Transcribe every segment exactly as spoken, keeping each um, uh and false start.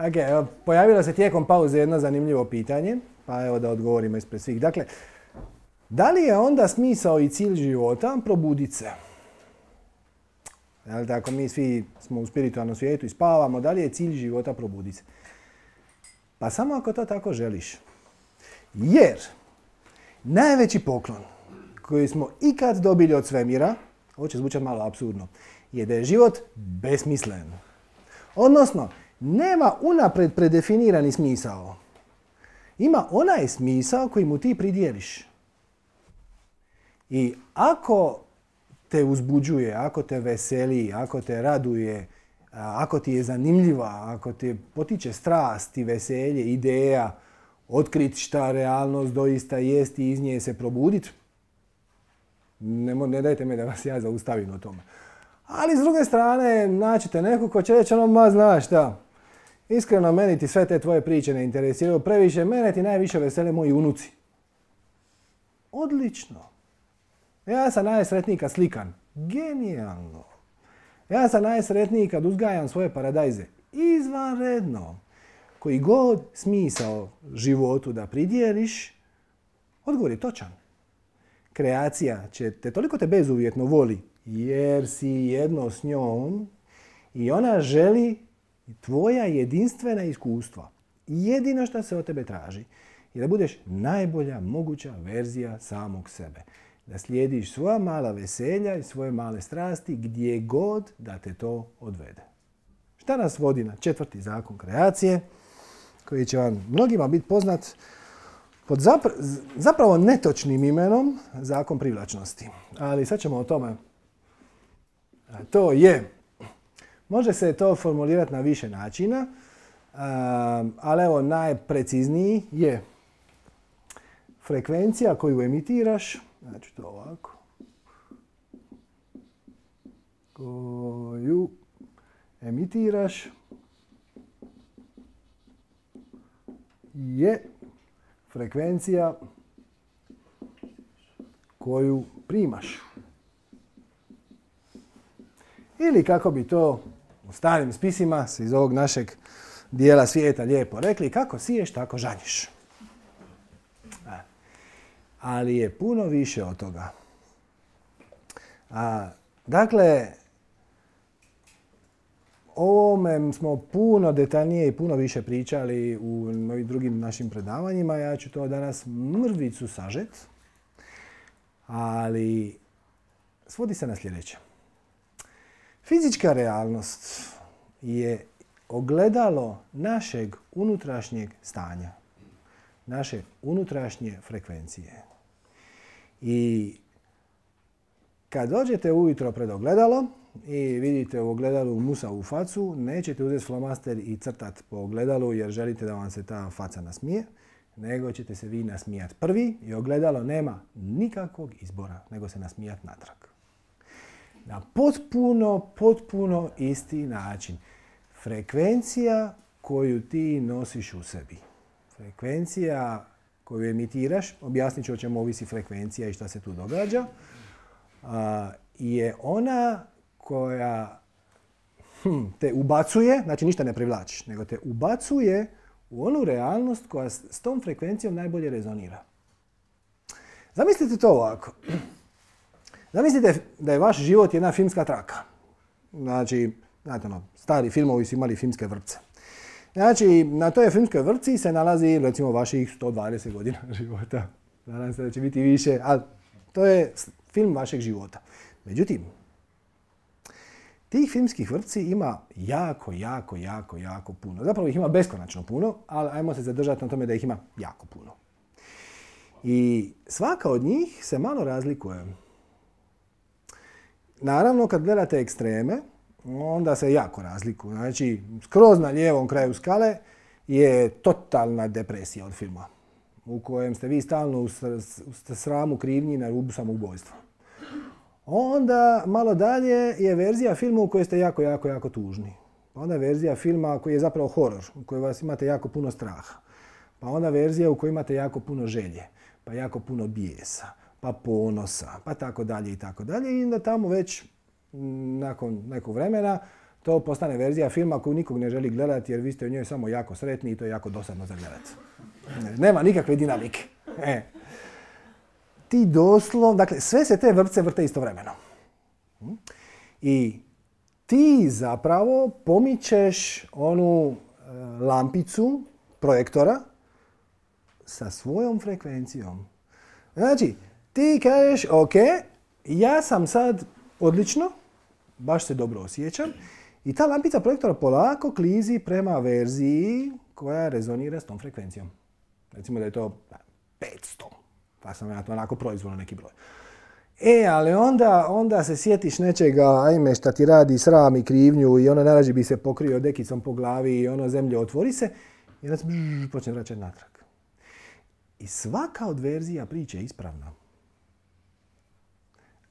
Ok, evo, pojavilo se tijekom pauze jedno zanimljivo pitanje, pa evo da odgovorimo ispred svih. Dakle, da li je onda smisao i cilj života probudit se? Jel, tako mi svi smo u spiritualnom svijetu i spavamo, da li je cilj života probudit se? Pa samo ako to tako želiš. Jer najveći poklon koji smo ikad dobili od svemira, ovo će zvučati malo apsurdno, je da je život besmislen. Odnosno, nema unaprijed predefinirani smisao. Ima onaj smisao koji mu ti pridjeliš. I ako te uzbuđuje, ako te veseli, ako te raduje, ako ti je zanimljiva, ako te potiče strast i veselje, ideja, otkriti šta realnost doista jest i iz nje se probuditi, ne, ne dajte me da vas ja zaustavim o tome. Ali s druge strane, naćete neko ko će reći ono, ma znaš šta, iskreno meni ti sve te tvoje priče ne interesiraju previše, mene ti najviše vesele moji unuci. Odlično. Ja sam najsretniji kad slikam. Genijalno. Ja sam najsretniji kad uzgajam svoje paradajze. Izvanredno. Koji god smisao životu da pridjeliš, odgovor je točan. Kreacija će te toliko te bezuvjetno voli, jer si jedno s njom i ona želi tvoja jedinstvena iskustva. Jedino što se od tebe traži je da budeš najbolja moguća verzija samog sebe. Da slijediš svoja mala veselja i svoje male strasti gdje god da te to odvede. Šta nas vodi na četvrti zakon kreacije, koji će vam mnogima biti poznat pod zapra- zapravo netočnim imenom zakon privlačnosti. Ali sad ćemo o tome. A to je, može se to formulirati na više načina, ali evo najprecizniji je frekvencija koju emitiraš, znači to ovako, koju emitiraš je frekvencija koju primaš. Ili kako bi to u starim spisima iz ovog našeg dijela svijeta lijepo rekli, kako siješ, tako žanješ. Ali je puno više od toga. A, dakle, o ovome smo puno detaljnije i puno više pričali u ovim drugim našim predavanjima. Ja ću to danas mrvicu sažet, ali svodi se na sljedeće. Fizička realnost je ogledalo našeg unutrašnjeg stanja, naše unutrašnje frekvencije. I kad dođete ujutro pred ogledalo i vidite u ogledalu musavu facu, nećete uzeti flomaster i crtati po ogledalu jer želite da vam se ta faca nasmije, nego ćete se vi nasmijati prvi i ogledalo nema nikakvog izbora nego se nasmijati natrag. Na potpuno, potpuno isti način. Frekvencija koju ti nosiš u sebi. Frekvencija koju emitiraš, objasnit ću o čemu ovisi frekvencija i šta se tu događa, je ona koja hm, te ubacuje, znači ništa ne privlačiš, nego te ubacuje u onu realnost koja s tom frekvencijom najbolje rezonira. Zamislite to ovako. Zamislite da je vaš život jedna filmska traka. Znači, znate ono, stari filmovi su imali filmske vrpce. Znači, na toj filmskoj vrpci se nalazi, recimo, vaših sto dvadeset godina života. Nadam se da će biti više, ali to je film vašeg života. Međutim, tih filmskih vrpci ima jako, jako, jako, jako puno. Zapravo ih ima beskonačno puno, ali ajmo se zadržati na tome da ih ima jako puno. I svaka od njih se malo razlikuje. Naravno, kad gledate ekstreme, onda se jako razlikuju. Znači, skroz na lijevom kraju skale je totalna depresija od filma, u kojem ste vi stalno u sramu, krivnji, na rubu samoubojstva. Onda, malo dalje, je verzija filma u kojoj ste jako, jako, jako tužni. Onda je verzija filma koji je zapravo horor, u kojoj vas imate jako puno straha. Pa onda verzija u kojoj imate jako puno želje, pa jako puno bijesa, pa ponosa, pa tako dalje i tako dalje. I onda tamo već nakon nekog vremena to postane verzija filma koju nikog ne želi gledati jer vi ste u njoj samo jako sretni i to je jako dosadno za gledati. Nema nikakve dinamike. E. Ti doslovno, dakle, sve se te vrpce vrte istovremeno. I ti zapravo pomičeš onu lampicu projektora sa svojom frekvencijom. Znači, ti kažeš, ok, ja sam sad odlično, baš se dobro osjećam, i ta lampica projektora polako klizi prema verziji koja rezonira s tom frekvencijom. Recimo da je to petsto, pa sam ja to onako proizvoljno neki broj. E, ali onda, onda se sjetiš nečega, ajme, šta ti radi sram i krivnju i ono najrađe bi se pokrio dekicom po glavi i ono zemlje otvori se i onda se bžž, počne vraćati natrag. I svaka od verzija priče je ispravna.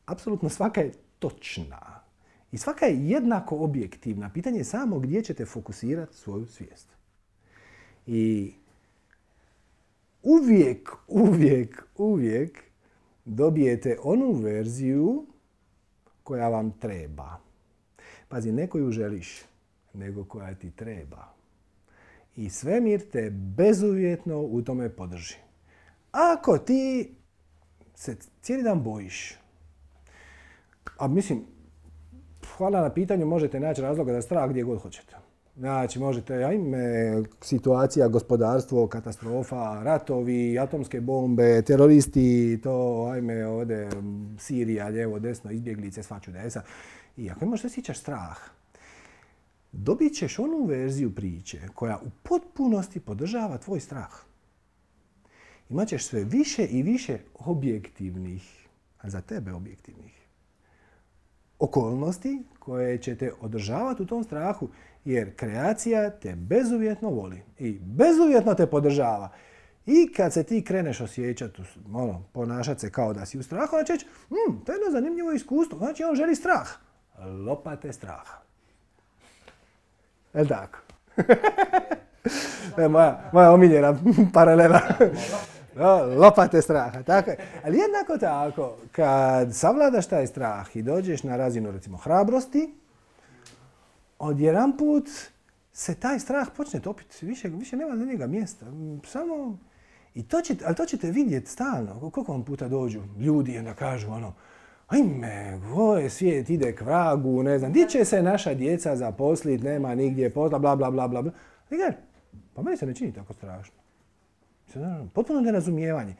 Apsolutno svaka je točna. I svaka je jednako objektivna. Pitanje je samo gdje ćete fokusirati svoju svijest. I uvijek, uvijek, uvijek dobijete onu verziju koja vam treba. Pazi, ne koju želiš, nego koja ti treba. I svemir te bezuvjetno u tome podrži. Ako ti se cijeli dan bojiš, a mislim, hvala na pitanju, možete naći razloga za strah gdje god hoćete. Znači, možete, ajme, situacija, gospodarstvo, katastrofa, ratovi, atomske bombe, teroristi, to, ajme, ovdje, Sirija, lijevo, desno, izbjeglice, svačudesa. I ako imaš osjećaš strah, dobit ćeš onu verziju priče koja u potpunosti podržava tvoj strah. Imaćeš sve više i više objektivnih, a za tebe objektivnih, okolnosti koje će te održavati u tom strahu, jer kreacija te bezuvjetno voli i bezuvjetno te podržava. I kad se ti kreneš osjećati, ono, ponašati se kao da si u strahu, onda će reći, hm, to je jedno zanimljivo iskustvo, znači on želi strah. Lopate straha. Je tako? To je moja, moja omiljena paralela. Lopate straha. Tako je. Ali jednako tako, kad savladaš taj strah i dođeš na razinu, recimo, hrabrosti, odjedanput se taj strah počne topiti. Više, više nema za njega mjesta. Samo... I to ćete, ali to ćete vidjeti stalno. Koliko vam puta dođu ljudi i onda kažu ono, ajme, ovaj svijet ide k vragu, ne znam, gdje će se naša djeca zaposliti, nema nigdje posla, bla, bla, bla, bla, bla. I kaže, pa meni se ne čini tako strašno. Potpuno nerazumijevanje.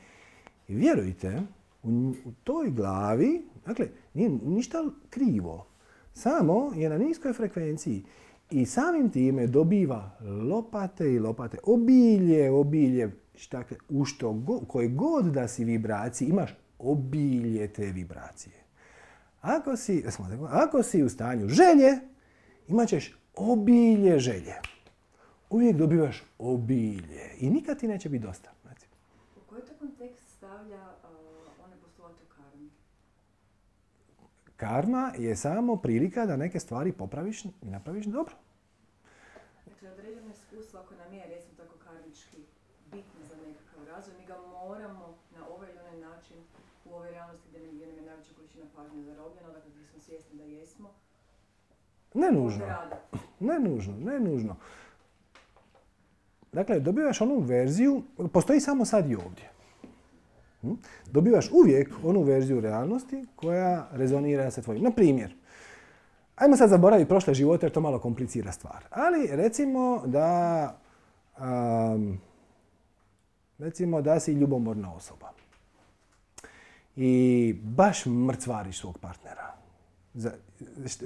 I vjerujte, u, u toj glavi, dakle, nije ništa krivo. Samo je na niskoj frekvenciji. I samim time dobiva lopate i lopate. Obilje, obilje. Dakle, u što go, koje god da si vibraciji, imaš obilje te vibracije. Ako si, ako si u stanju želje, imat ćeš obilje želje. Uvijek dobivaš obilje i nikad ti neće biti dosta. Znači. U koji to kontekst stavlja uh, one postulate u karmi? Karma je samo prilika da neke stvari popraviš i napraviš dobro. Dakle, određeno iskustvo, ako nam je, recimo tako karmički, bitno za nekakav razvoj, mi ga moramo na ovaj ili onaj način u ovoj realnosti gdje nam je najveća količina pažnje zarobljena, dakle gdje smo svjesni da jesmo. Ne nužno. Ne nužno, ne nužno. Dakle, dobivaš onu verziju, postoji samo sad i ovdje. Dobivaš uvijek onu verziju realnosti koja rezonira sa tvojim. Na primjer, ajmo sad zaboraviti prošle živote jer to malo komplicira stvar. Ali recimo da, um, recimo da si ljubomorna osoba. I baš mrcvariš svog partnera.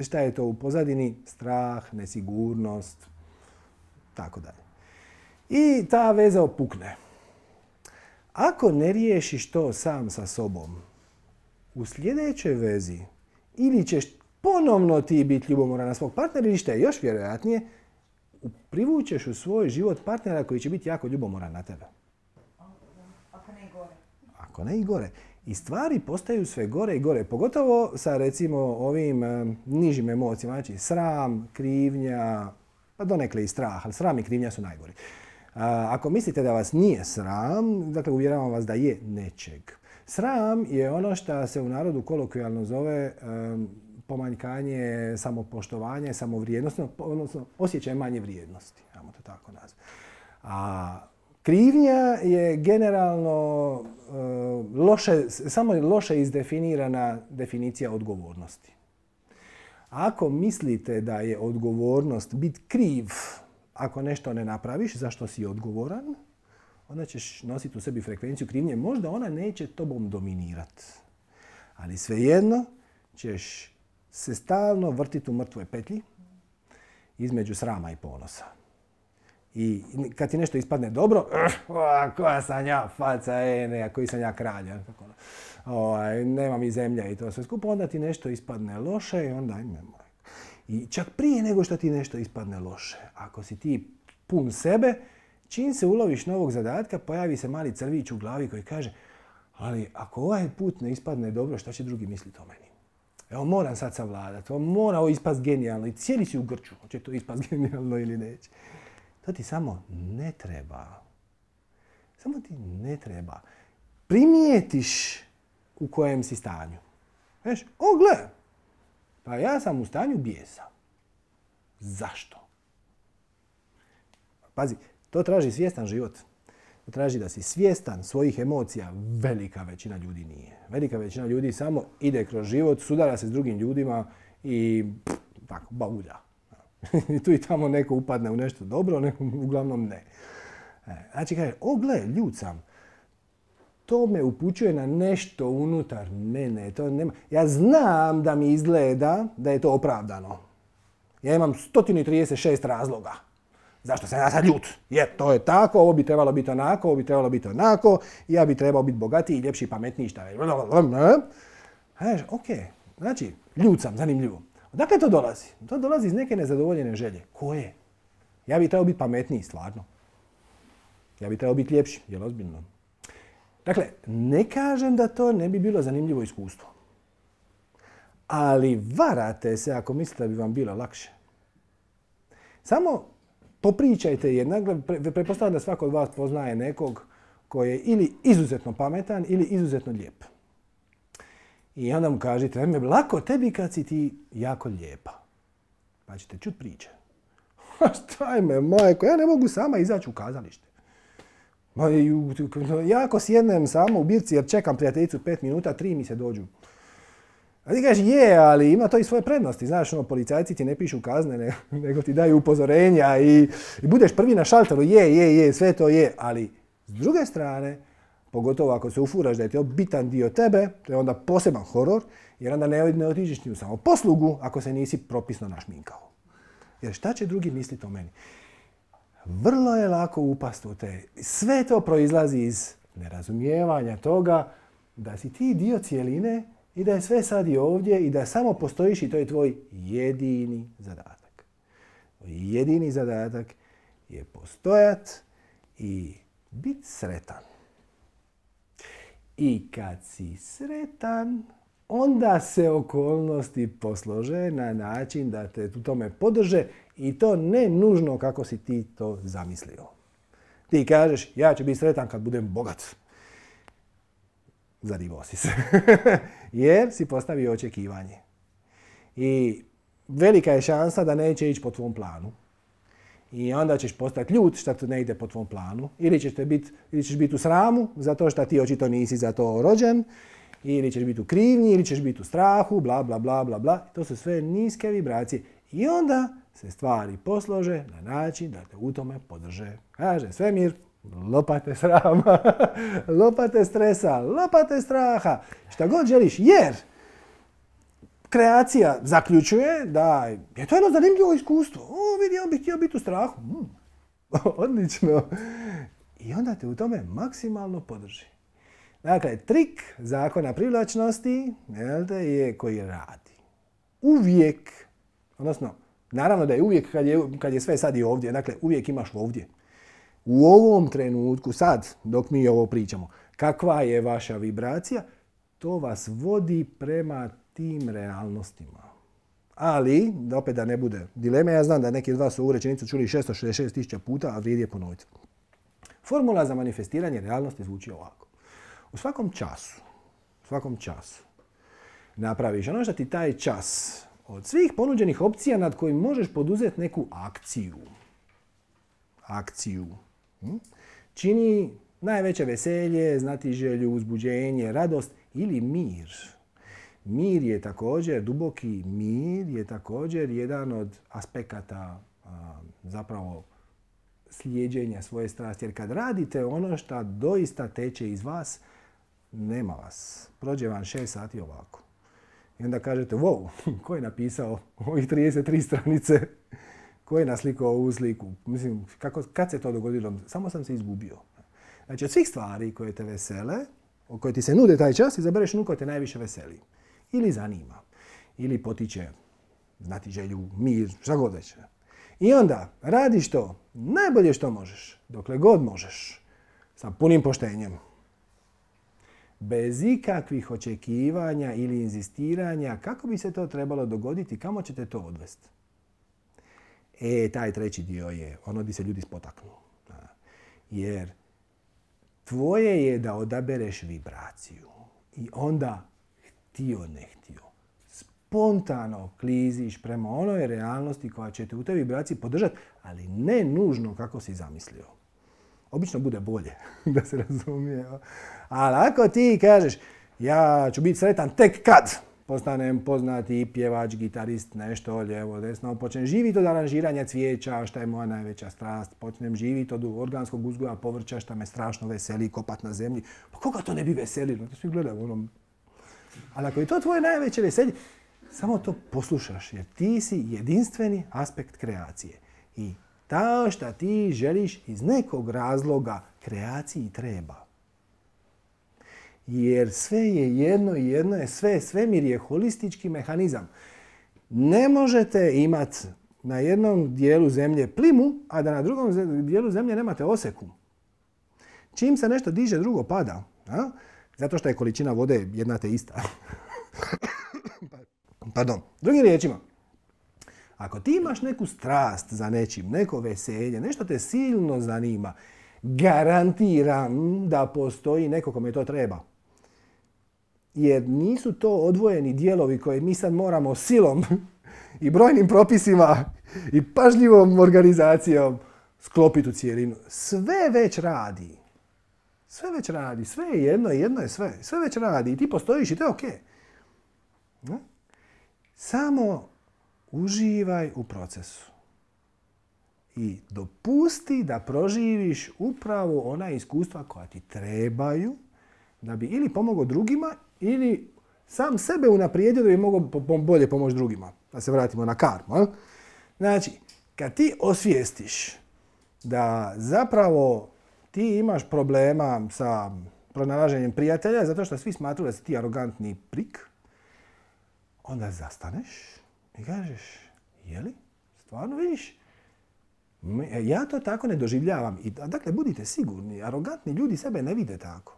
Šta je to u pozadini? Strah, nesigurnost, tako dalje. I ta veza opukne. Ako ne riješiš to sam sa sobom, u sljedećoj vezi ili ćeš ponovno ti biti ljubomoran na svog partnera ili što je još vjerojatnije, privučeš u svoj život partnera koji će biti jako ljubomoran na tebe. Ako ne i gore. Ako ne i gore. I stvari postaju sve gore i gore. Pogotovo sa recimo ovim um, nižim emocijama. Znači sram, krivnja, pa donekle i strah, ali sram i krivnja su najgori. Ako mislite da vas nije sram, dakle uvjeravam vas da je nečeg. Sram je ono što se u narodu kolokvijalno zove um, pomanjkanje samopoštovanja, samovrijednosti, odnosno osjećaj manje vrijednosti, ajmo to tako nazvati. A krivnja je generalno uh, loše, samo loše izdefinirana definicija odgovornosti. Ako mislite da je odgovornost biti kriv ako nešto ne napraviš, zašto si odgovoran, onda ćeš nositi u sebi frekvenciju krivnje. Možda ona neće tobom dominirati. Ali svejedno ćeš se stalno vrtiti u mrtvoj petlji između srama i ponosa. I kad ti nešto ispadne dobro, uh, koja sam ja faca, e, ne, koji sam ja kralj. Ovaj, nema mi zemlja i to sve skupo, onda ti nešto ispadne loše i onda imamo. I čak prije nego što ti nešto ispadne loše, ako si ti pun sebe, čim se uloviš novog zadatka, pojavi se mali crvić u glavi koji kaže ali ako ovaj put ne ispadne dobro, šta će drugi misliti o meni? Evo, moram sad savladati, mora ovo ispast genijalno i cijeli si u grču, hoće to ispast genijalno ili neće. To ti samo ne treba. Samo ti ne treba. Primijetiš u kojem si stanju. Veš, o gle, pa ja sam u stanju bijesa. Zašto? Pazi, to traži svjestan život. To traži da si svjestan svojih emocija. Velika većina ljudi nije. Velika većina ljudi samo ide kroz život, sudara se s drugim ljudima i pff, tako, baulja. I tu i tamo neko upadne u nešto dobro, neko uglavnom ne. Znači kaže, o gle, ljud sam. To me upućuje na nešto unutar mene. To nema. Ja znam da mi izgleda da je to opravdano. Ja imam sto trideset šest razloga. Zašto sam ja sad ljut? Jer to je tako, ovo bi trebalo biti onako, ovo bi trebalo biti onako, ja bi trebao biti bogatiji, ljepši, pametniji, šta je. Znaš, ok, znači, ljut sam, zanimljivo. Odakle to dolazi? To dolazi iz neke nezadovoljene želje. Koje? Ja bi trebao biti pametniji, stvarno. Ja bi trebao biti ljepši, jel ozbiljno? Dakle, ne kažem da to ne bi bilo zanimljivo iskustvo. Ali varate se ako mislite da bi vam bilo lakše. Samo popričajte jednak, pretpostavljam da svako od vas poznaje nekog koji je ili izuzetno pametan ili izuzetno lijep. I onda mu kažete, ajme, lako tebi kad si ti jako lijepa. Pa ćete čut priče. Šta me, majko, ja ne mogu sama izaći u kazalište. Ja ako sjednem samo u birci jer čekam prijateljicu pet minuta, tri mi se dođu. A ti kažeš, je, ali ima to i svoje prednosti. Znaš, ono, policajci ti ne pišu kazne, ne, nego ti daju upozorenja i, i budeš prvi na šalteru, je, je, je, sve to je. Ali s druge strane, pogotovo ako se ufuraš da je to bitan dio tebe, to je onda poseban horor, jer onda ne, ne otiđeš ni u samoposlugu ako se nisi propisno našminkao. Jer šta će drugi misliti o meni? Vrlo je lako upast u te. Sve to proizlazi iz nerazumijevanja toga da si ti dio cijeline i da je sve sad i ovdje i da samo postojiš i to je tvoj jedini zadatak. Jedini zadatak je postojat i biti sretan. I kad si sretan, onda se okolnosti poslože na način da te u tome podrže i to ne nužno kako si ti to zamislio. Ti kažeš, ja ću biti sretan kad budem bogat. Zadivo si se. Jer si postavio očekivanje. I velika je šansa da neće ići po tvom planu. I onda ćeš postati ljut što to ne ide po tvom planu. Ili ćeš biti ili ćeš biti u sramu zato što ti očito nisi za to rođen. Ili ćeš biti u krivnji, ili ćeš biti u strahu, bla, bla, bla, bla, bla. To su sve niske vibracije. I onda se stvari poslože na način da te u tome podrže. Kaže svemir, lopate srama, lopate stresa, lopate straha, šta god želiš, jer kreacija zaključuje da je to jedno zanimljivo iskustvo. O, vidi, on bi htio biti u strahu. Mm. Odlično. I onda te u tome maksimalno podrži. Dakle, trik zakona privlačnosti je koji radi. Uvijek, odnosno, naravno da je uvijek kad je, kad je sve sad i ovdje, dakle, uvijek imaš ovdje. U ovom trenutku, sad, dok mi ovo pričamo, kakva je vaša vibracija, to vas vodi prema tim realnostima. Ali, opet da ne bude dileme, ja znam da neki od vas su ovu rečenicu čuli šesto šezdeset šest tisuća puta, a vrijedi je ponoviti. Formula za manifestiranje realnosti zvuči ovako. U svakom času, u svakom času, napraviš ono što ti taj čas od svih ponuđenih opcija nad kojim možeš poduzeti neku akciju. Akciju. Čini najveće veselje, znatiželju, uzbuđenje, radost ili mir. Mir je također, duboki mir je također jedan od aspekata a, zapravo slijeđenja svoje strasti. Jer kad radite ono što doista teče iz vas, nema vas. Prođe vam šest sati ovako. I onda kažete, wow, ko je napisao ovih trideset tri stranice? Ko je naslikao ovu sliku? Mislim, kako, kad se to dogodilo? Samo sam se izgubio. Znači, od svih stvari koje te vesele, o koje ti se nude taj čas, izabereš onu koja te najviše veseli. Ili zanima. Ili potiče znatiželju, mir, šta god već. I onda radiš to najbolje što možeš, dokle god možeš, sa punim poštenjem. Bez ikakvih očekivanja ili inzistiranja kako bi se to trebalo dogoditi, kamo ćete to odvesti. E, taj treći dio je ono gdje se ljudi spotaknu. Jer tvoje je da odabereš vibraciju. I onda, htio ne htio, spontano kliziš prema onoj realnosti koja će te u toj vibraciji podržati, ali ne nužno kako si zamislio. Obično bude bolje, da se razumije. Ali ako ti kažeš, ja ću biti sretan tek kad postanem poznati pjevač, gitarist, nešto lijevo, desno, počnem živjeti od aranžiranja cvijeća, što je moja najveća strast, počnem živjeti od organskog uzgoja povrća, što me strašno veseli, kopat na zemlji. Pa koga to ne bi veselilo? To svi gledaju onom. Ali ako je to tvoje najveće veselje, samo to poslušaš, jer ti si jedinstveni aspekt kreacije. I to što ti želiš iz nekog razloga kreaciji treba. Jer sve je jedno i jedno je sve. Svemir je holistički mehanizam. Ne možete imati na jednom dijelu zemlje plimu, a da na drugom dijelu zemlje nemate oseku. Čim se nešto diže, drugo pada. A? Zato što je količina vode jedna te ista. Pardon. Drugim riječima, ako ti imaš neku strast za nečim, neko veselje, nešto te silno zanima, garantiram da postoji neko kome to treba. Jer nisu to odvojeni dijelovi koje mi sad moramo silom i brojnim propisima i pažljivom organizacijom sklopiti u cijelinu. Sve već radi. Sve već radi. Sve je jedno i jedno je sve. Sve već radi i ti postojiš i to je ok. Samo uživaj u procesu. I dopusti da proživiš upravo ona iskustva koja ti trebaju da bi ili pomogao drugima ili sam sebe unaprijedio da bi mogao bolje pomoći drugima. Da se vratimo na karmu. Znači, kad ti osvijestiš da zapravo ti imaš problema sa pronalaženjem prijatelja zato što svi smatruju da si ti arogantni prik, onda zastaneš i kažeš, jeli? Stvarno vidiš? Ja to tako ne doživljavam. I, dakle, budite sigurni, arogantni ljudi sebe ne vide tako.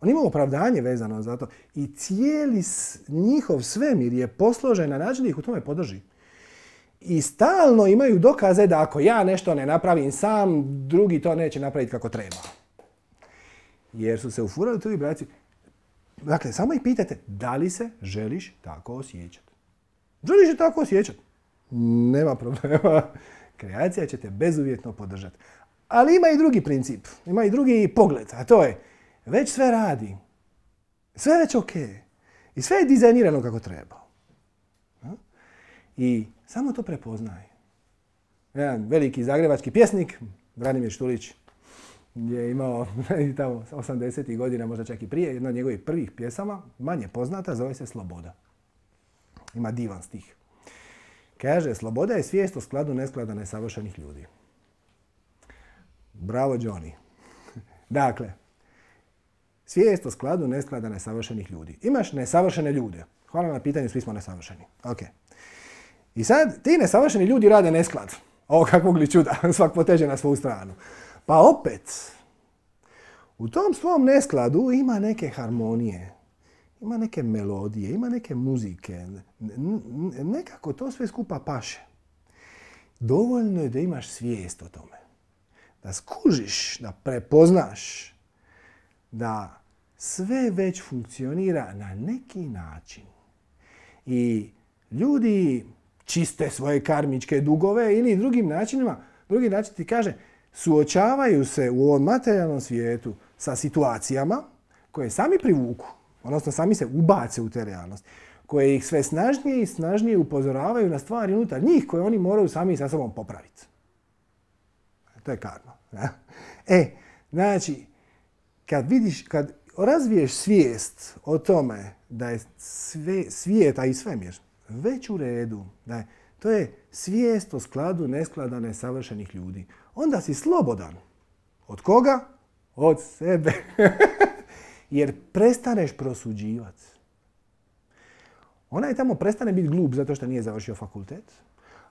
Oni imaju opravdanje vezano za to. I cijeli njihov svemir je posložen na način da ih u tome podrži. I stalno imaju dokaze da ako ja nešto ne napravim sam, drugi to neće napraviti kako treba. Jer su se ufurali u tu vibraciju. Dakle, samo ih pitajte, da li se želiš tako osjećati? Želiš se tako osjećati? Nema problema. Kreacija će te bezuvjetno podržati. Ali ima i drugi princip, ima i drugi pogled, a to je već sve radi. Sve je već ok. I sve je dizajnirano kako treba. I samo to prepoznaj. Jedan veliki zagrebački pjesnik, Branimir Štulić, je imao tamo osamdesetih godina, možda čak i prije, jedna od njegovih prvih pjesama, manje poznata, zove se Sloboda. Ima divan stih. Kaže, sloboda je svijest o skladu nesklada nesavršenih ljudi. Bravo, Johnny. Dakle, svijest o skladu nesklada nesavršenih ljudi. Imaš nesavršene ljude. Hvala na pitanju, svi smo nesavršeni. Ok. I sad, ti nesavršeni ljudi rade nesklad. O, kakvog li čuda, svak poteže na svoju stranu. Pa opet, u tom svom neskladu ima neke harmonije. Ima neke melodije, ima neke muzike. Nekako to sve skupa paše. Dovoljno je da imaš svijest o tome. Da skužiš, da prepoznaš da sve već funkcionira na neki način. I ljudi čiste svoje karmičke dugove ili drugim načinima, drugi način ti kaže, suočavaju se u ovom materijalnom svijetu sa situacijama koje sami privuku, odnosno sami se ubace u te realnosti, koje ih sve snažnije i snažnije upozoravaju na stvari unutar njih koje oni moraju sami sa sobom popraviti. To je karma. Ja? E, znači, kad vidiš, kad razviješ svijest o tome da je sve, svijeta i svemir već u redu, da je, to je svijest o skladu nesklada nesavršenih ljudi, onda si slobodan. Od koga? Od sebe. Jer prestaneš prosuđivati. Onaj tamo prestane biti glup zato što nije završio fakultet,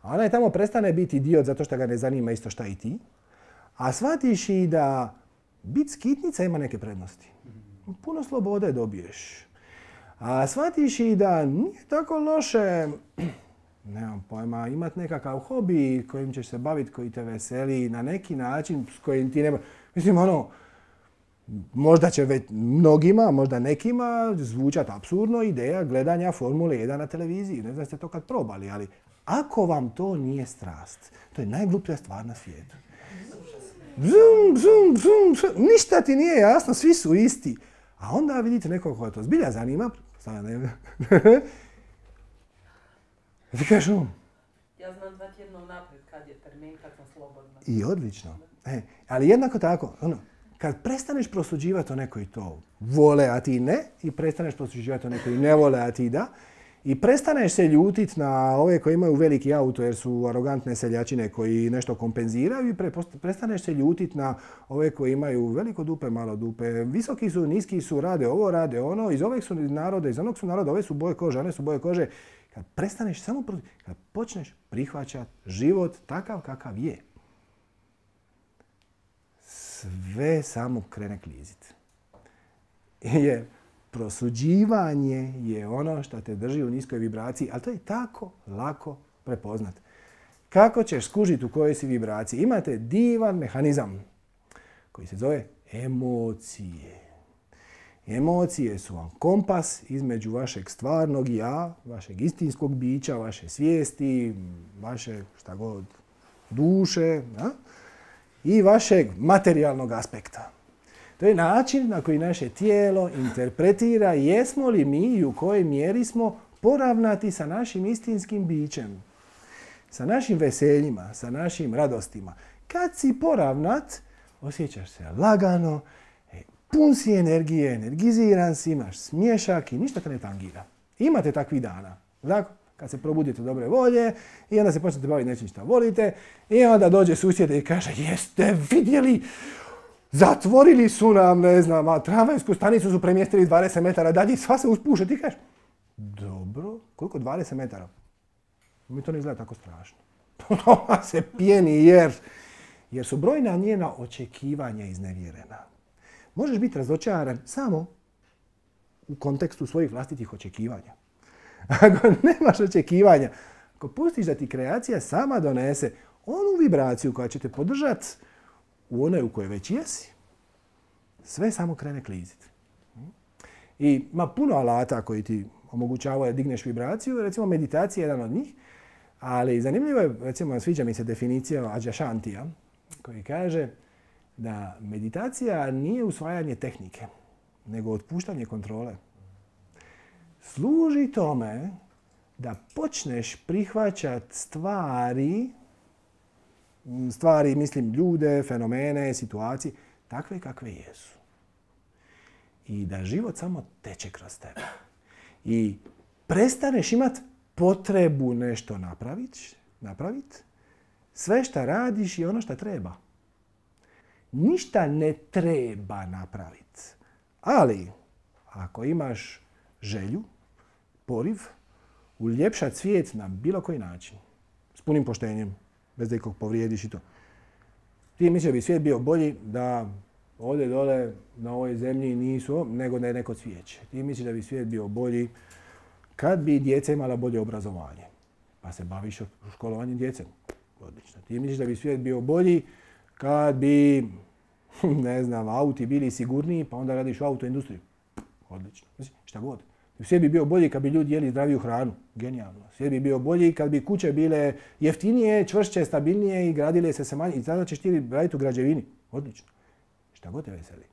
a onaj tamo prestane biti idiot zato što ga ne zanima isto šta i ti, a shvatiš i da biti skitnica ima neke prednosti. Puno slobode dobiješ. A shvatiš i da nije tako loše, nemam pojma, imati nekakav hobi kojim ćeš se baviti, koji te veseli na neki način s kojim ti nema... Mislim, ono, možda će već mnogima, možda nekima zvučati apsurdno ideja gledanja Formule jedan na televiziji. Ne znam ste to kad probali, ali ako vam to nije strast, to je najgluplja stvar na svijetu. Zum, zum, zum, zum. Ništa ti nije jasno, svi su isti. A onda vidite nekog koja to zbilja zanima. Ti kažeš um. Ja znam dva tjedna unaprijed kad je termin, kad sam slobodna. I odlično. E, ali jednako tako, ono, kad prestaneš prosuđivati o nekoj to vole, a ti ne, i prestaneš prosuđivati o nekoj ne vole, a ti da, i prestaneš se ljutiti na ove koji imaju veliki auto jer su arogantne seljačine koji nešto kompenziraju i pre, prestaneš se ljutiti na ove koji imaju veliko dupe, malo dupe, visoki su, niski su, rade ovo, rade ono, iz ovog su naroda, iz onog su naroda, ove su boje kože, one su boje kože. Kad prestaneš samo, kad počneš prihvaćati život takav kakav je, sve samo krene kliziti. Jer prosuđivanje je ono što te drži u niskoj vibraciji, ali to je tako lako prepoznat. Kako ćeš skužiti u kojoj si vibraciji? Imate divan mehanizam koji se zove emocije. Emocije su vam kompas između vašeg stvarnog ja, vašeg istinskog bića, vaše svijesti, vaše šta god duše, ja? I vašeg materijalnog aspekta. To je način na koji naše tijelo interpretira jesmo li mi i u kojoj mjeri smo poravnati sa našim istinskim bićem, sa našim veseljima, sa našim radostima. Kad si poravnat, osjećaš se lagano, pun si energije, energiziran si, imaš smiješak i ništa te ne tangira. Imate takvih dana. Dakle, kad se probudite dobre volje i onda se počnete baviti nečim što volite i onda dođe susjed i kaže jeste vidjeli, zatvorili su nam, ne znam, tramvajsku stanicu su premjestili dvadeset metara dalje i sva se uspuše. Ti kažeš, dobro, koliko dvadeset metara? Mi to ne izgleda tako strašno. Ona se pijeni jer, jer su brojna njena očekivanja iznevjerena. Možeš biti razočaran samo u kontekstu svojih vlastitih očekivanja. Ako nemaš očekivanja, ako pustiš da ti kreacija sama donese onu vibraciju koja će te podržati u onoj u kojoj već jesi, sve samo krene kliziti. I ima puno alata koji ti omogućavaju da digneš vibraciju, recimo meditacija je jedan od njih, ali zanimljivo je, recimo sviđa mi se definicija Ađa Šantija, koji kaže da meditacija nije usvajanje tehnike, nego otpuštanje kontrole. Služi tome da počneš prihvaćati stvari, stvari, mislim, ljude, fenomene, situacije, takve kakve jesu. I da život samo teče kroz tebe. I prestaneš imati potrebu nešto napraviti, napraviti, sve što radiš je ono što treba. Ništa ne treba napraviti. Ali, ako imaš želju, poriv, uljepšati svijet na bilo koji način, s punim poštenjem, bez da ikog povrijediš i to. Ti misliš da bi svijet bio bolji da ovdje dole na ovoj zemlji nisu, nego da je neko cvijeće. Ti misliš da bi svijet bio bolji kad bi djeca imala bolje obrazovanje. Pa se baviš školovanjem djece. Odlično. Ti misliš da bi svijet bio bolji kad bi, ne znam, auti bili sigurniji, pa onda radiš u autoindustriji. Odlično. Šta god. Svijet bi bio bolji kad bi ljudi jeli zdraviju hranu. Genijalno. Svijet bi bio bolji kad bi kuće bile jeftinije, čvršće, stabilnije i gradile se se manje. I tada ćeš ti raditi u građevini. Odlično. Šta god te veseli.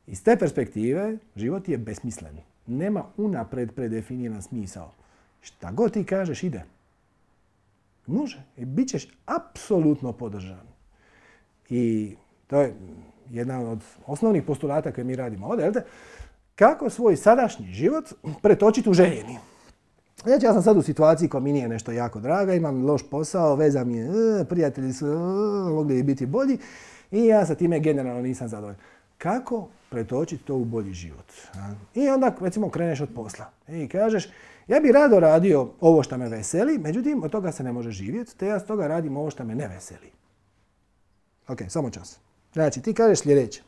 Iz te perspektive život je besmislen. Nema unapred predefiniran smisao. Šta god ti kažeš ide. Može. I bit ćeš apsolutno podržan. I to je jedan od osnovnih postulata koje mi radimo ovdje. Jel te? Kako svoj sadašnji život pretočiti u željeni. Znači, ja sam sad u situaciji koja mi nije nešto jako draga, imam loš posao, veza mi je, prijatelji su mogli biti bolji i ja sa time generalno nisam zadovoljan. Kako pretočiti to u bolji život? I onda, recimo, kreneš od posla i kažeš, ja bih rado radio ovo što me veseli, međutim, od toga se ne može živjeti, te ja s toga radim ovo što me ne veseli. Ok, samo čas. Znači, ti kažeš sljedeće.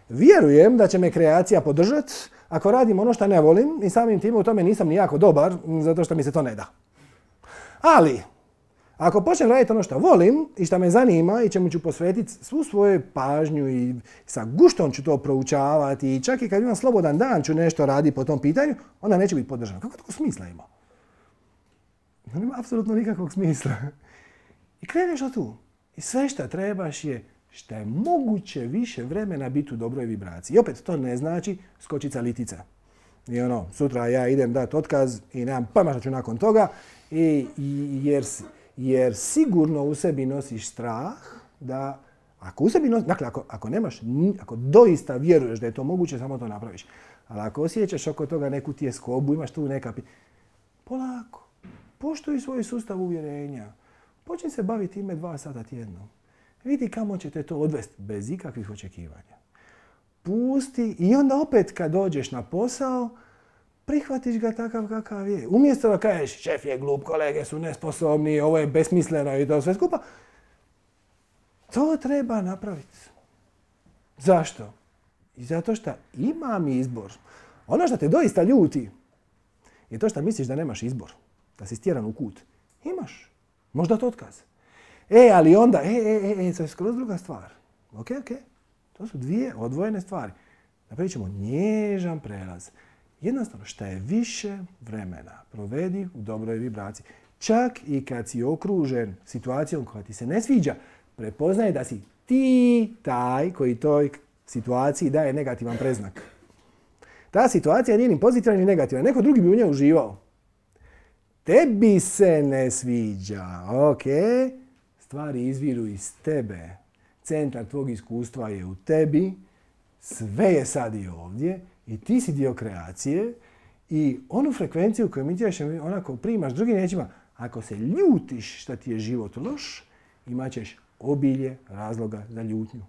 Vjerujem da će me kreacija podržati ako radim ono što ne volim i samim time u tome nisam ni jako dobar zato što mi se to ne da. Ali, ako počnem raditi ono što volim i što me zanima i čemu ću posvetiti svu svoju pažnju i sa guštom ću to proučavati i čak i kad imam slobodan dan ću nešto raditi po tom pitanju, onda neće biti podržano. Kako tako smisla ima? Nema apsolutno nikakvog smisla. I kreneš od tu. I sve što trebaš je što je moguće više vremena biti u dobroj vibraciji. I opet to ne znači skočica litica. I ono, sutra ja idem dati otkaz i nemam pojma što ću nakon toga, i, jer, jer sigurno u sebi nosiš strah da, ako u sebi nosiš, dakle ako, ako nemaš, ako doista vjeruješ da je to moguće, samo to napraviš. Ali ako osjećaš oko toga neku tjeskobu, imaš tu neka, polako, poštuj svoj sustav uvjerenja. Počni se baviti time dva sata tjedno. Vidi kamo će te to odvesti bez ikakvih očekivanja. Pusti i onda opet kad dođeš na posao, prihvatiš ga takav kakav je. Umjesto da kažeš šef je glup, kolege su nesposobni, ovo je besmisleno i to sve skupa. To treba napraviti. Zašto? I zato što imam izbor. Ono što te doista ljuti je to što misliš da nemaš izbor. Da si stjeran u kut. Imaš. Možda to otkaz. E, ali onda, e, e, e, e, to je skroz druga stvar. Ok, ok. To su dvije odvojene stvari. Napravit ćemo nježan prelaz. Jednostavno, šta je više vremena provedi u dobroj vibraciji. Čak i kad si okružen situacijom koja ti se ne sviđa, prepoznaj da si ti taj koji toj situaciji daje negativan preznak. Ta situacija nije ni pozitivna ni negativna. Neko drugi bi u njoj uživao. Tebi se ne sviđa, ok? Stvari izviru iz tebe. Centar tvog iskustva je u tebi. Sve je sad i ovdje. I ti si dio kreacije. I onu frekvenciju koju emitiraš, onako primaš drugim riječima. Ako se ljutiš što ti je život loš, imat ćeš obilje razloga za ljutnju.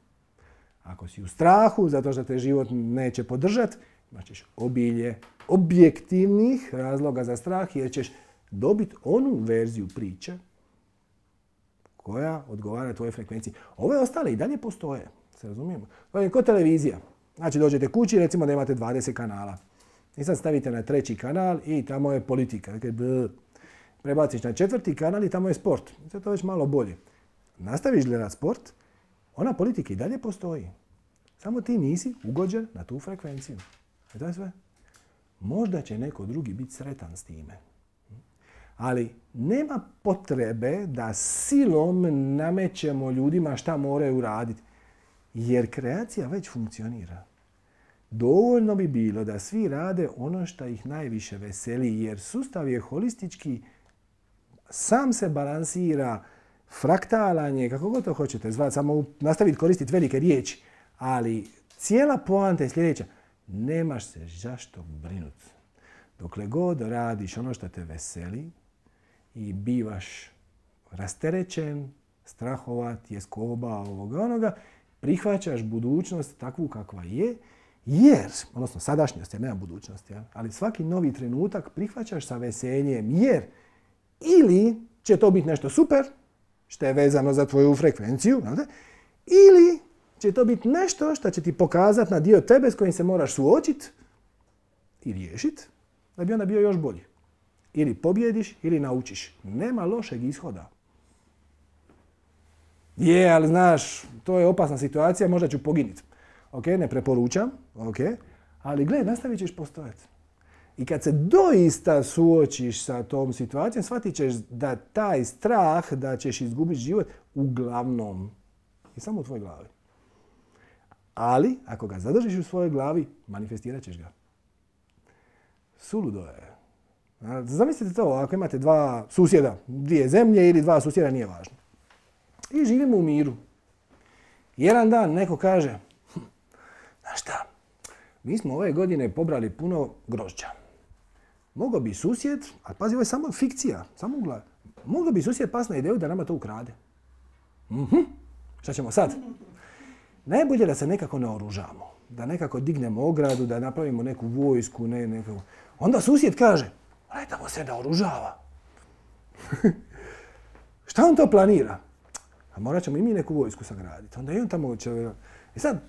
Ako si u strahu zato što te život neće podržati, imat ćeš obilje objektivnih razloga za strah jer ćeš dobiti onu verziju priče koja odgovara tvojoj frekvenciji. Ove ostale i dalje postoje, se razumijemo. To je kao televizija. Znači dođete kući, recimo da imate dvadeset kanala. I sad stavite na treći kanal i tamo je politika. Prebaciš na četvrti kanal i tamo je sport. Sad to već malo bolje. Nastaviš gledati sport, ona politika i dalje postoji. Samo ti nisi ugođen na tu frekvenciju. I to je sve. Možda će neko drugi biti sretan s time. Ali nema potrebe da silom namećemo ljudima šta moraju raditi. Jer kreacija već funkcionira. Dovoljno bi bilo da svi rade ono što ih najviše veseli. Jer sustav je holistički, sam se balansira, fraktalan je, kako god to hoćete zvati, samo nastaviti koristiti velike riječi. Ali cijela poanta je sljedeća. Nemaš se zašto brinuti. Dokle god radiš ono što te veseli i bivaš rasterećen, strahova, tjeskoba, ovoga onoga, prihvaćaš budućnost takvu kakva je, jer, odnosno sadašnjost, jer nema budućnosti, ali svaki novi trenutak prihvaćaš sa veseljem, jer ili će to biti nešto super, što je vezano za tvoju frekvenciju, znate, ili će to biti nešto što će ti pokazati na dio tebe s kojim se moraš suočiti i riješiti, da bi onda bio još bolji. Ili pobjediš, ili naučiš. Nema lošeg ishoda. Je, ali znaš, to je opasna situacija, možda ću poginiti. Ok, ne preporučam, ok, ali gle, nastavit ćeš postojati. I kad se doista suočiš sa tom situacijom, shvatit ćeš da taj strah da ćeš izgubiti život uglavnom je samo u tvojoj glavi. Ali, ako ga zadržiš u svojoj glavi, manifestirat ćeš ga. Suludo je. Zamislite to, ako imate dva susjeda, dvije zemlje ili dva susjeda, nije važno. I živimo u miru. Jedan dan neko kaže, hm, znaš šta, mi smo ove godine pobrali puno grožđa. Mogao bi susjed, a pazi, ovo je samo fikcija, samo u glavi. Mogao bi susjed pas na ideju da nama to ukrade. Mhm. Šta ćemo sad? Najbolje da se nekako naoružamo, da nekako dignemo ogradu, da napravimo neku vojsku, ne, neku... Onda susjed kaže, aj tamo se naoružava. Šta on to planira? A morat ćemo i mi neku vojsku sagraditi. Onda i on tamo će... I sad,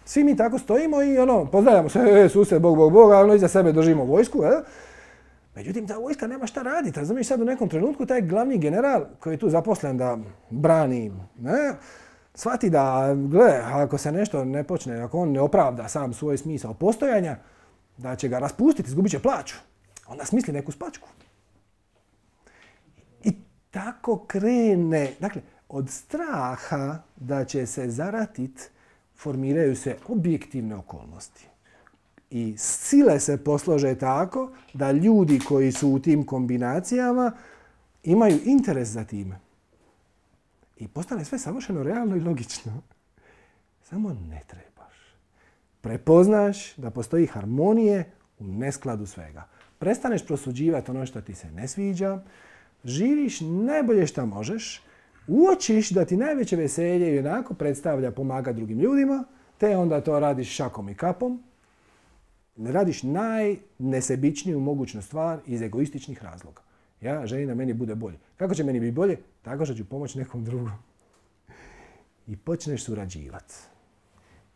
svi mi tako stojimo i ono, pozdravljamo se, e, susjed, bog, bog, bog, a ono iza sebe držimo vojsku, e? Međutim, ta vojska nema šta raditi. Razumiješ, sad u nekom trenutku taj glavni general koji je tu zaposlen da brani, ne, shvati da, gle, ako se nešto ne počne, ako on ne opravda sam svoj smisao postojanja, da će ga raspustiti, izgubit će plaću. Onda smisli neku spačku. I tako krene. Dakle, od straha da će se zaratit formiraju se objektivne okolnosti. I sile se poslože tako da ljudi koji su u tim kombinacijama imaju interes za time. I postane sve savršeno realno i logično. Samo ne trebaš. Prepoznaš da postoji harmonije u neskladu svega. Prestaneš prosuđivati ono što ti se ne sviđa, živiš najbolje što možeš, uočiš da ti najveće veselje i onako predstavlja pomagati drugim ljudima, te onda to radiš šakom i kapom. Radiš najnesebičniju mogućnu stvar iz egoističnih razloga. Ja želim da meni bude bolje. Kako će meni biti bolje? Tako što ću pomoći nekom drugom. I počneš surađivati.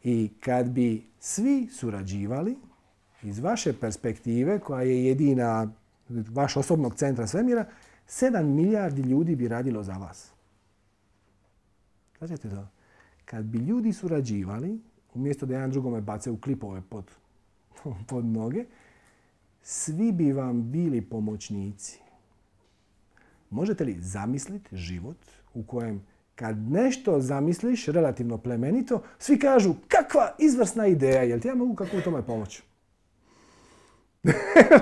I kad bi svi surađivali, iz vaše perspektive, koja je jedina vaš osobnog centra svemira, sedam milijardi ljudi bi radilo za vas. Značite to? Kad bi ljudi surađivali, umjesto da jedan drugome bace u klipove pod, pod noge, svi bi vam bili pomoćnici. Možete li zamisliti život u kojem kad nešto zamisliš relativno plemenito, svi kažu kakva izvrsna ideja, jel ti ja mogu kako u tome pomoći?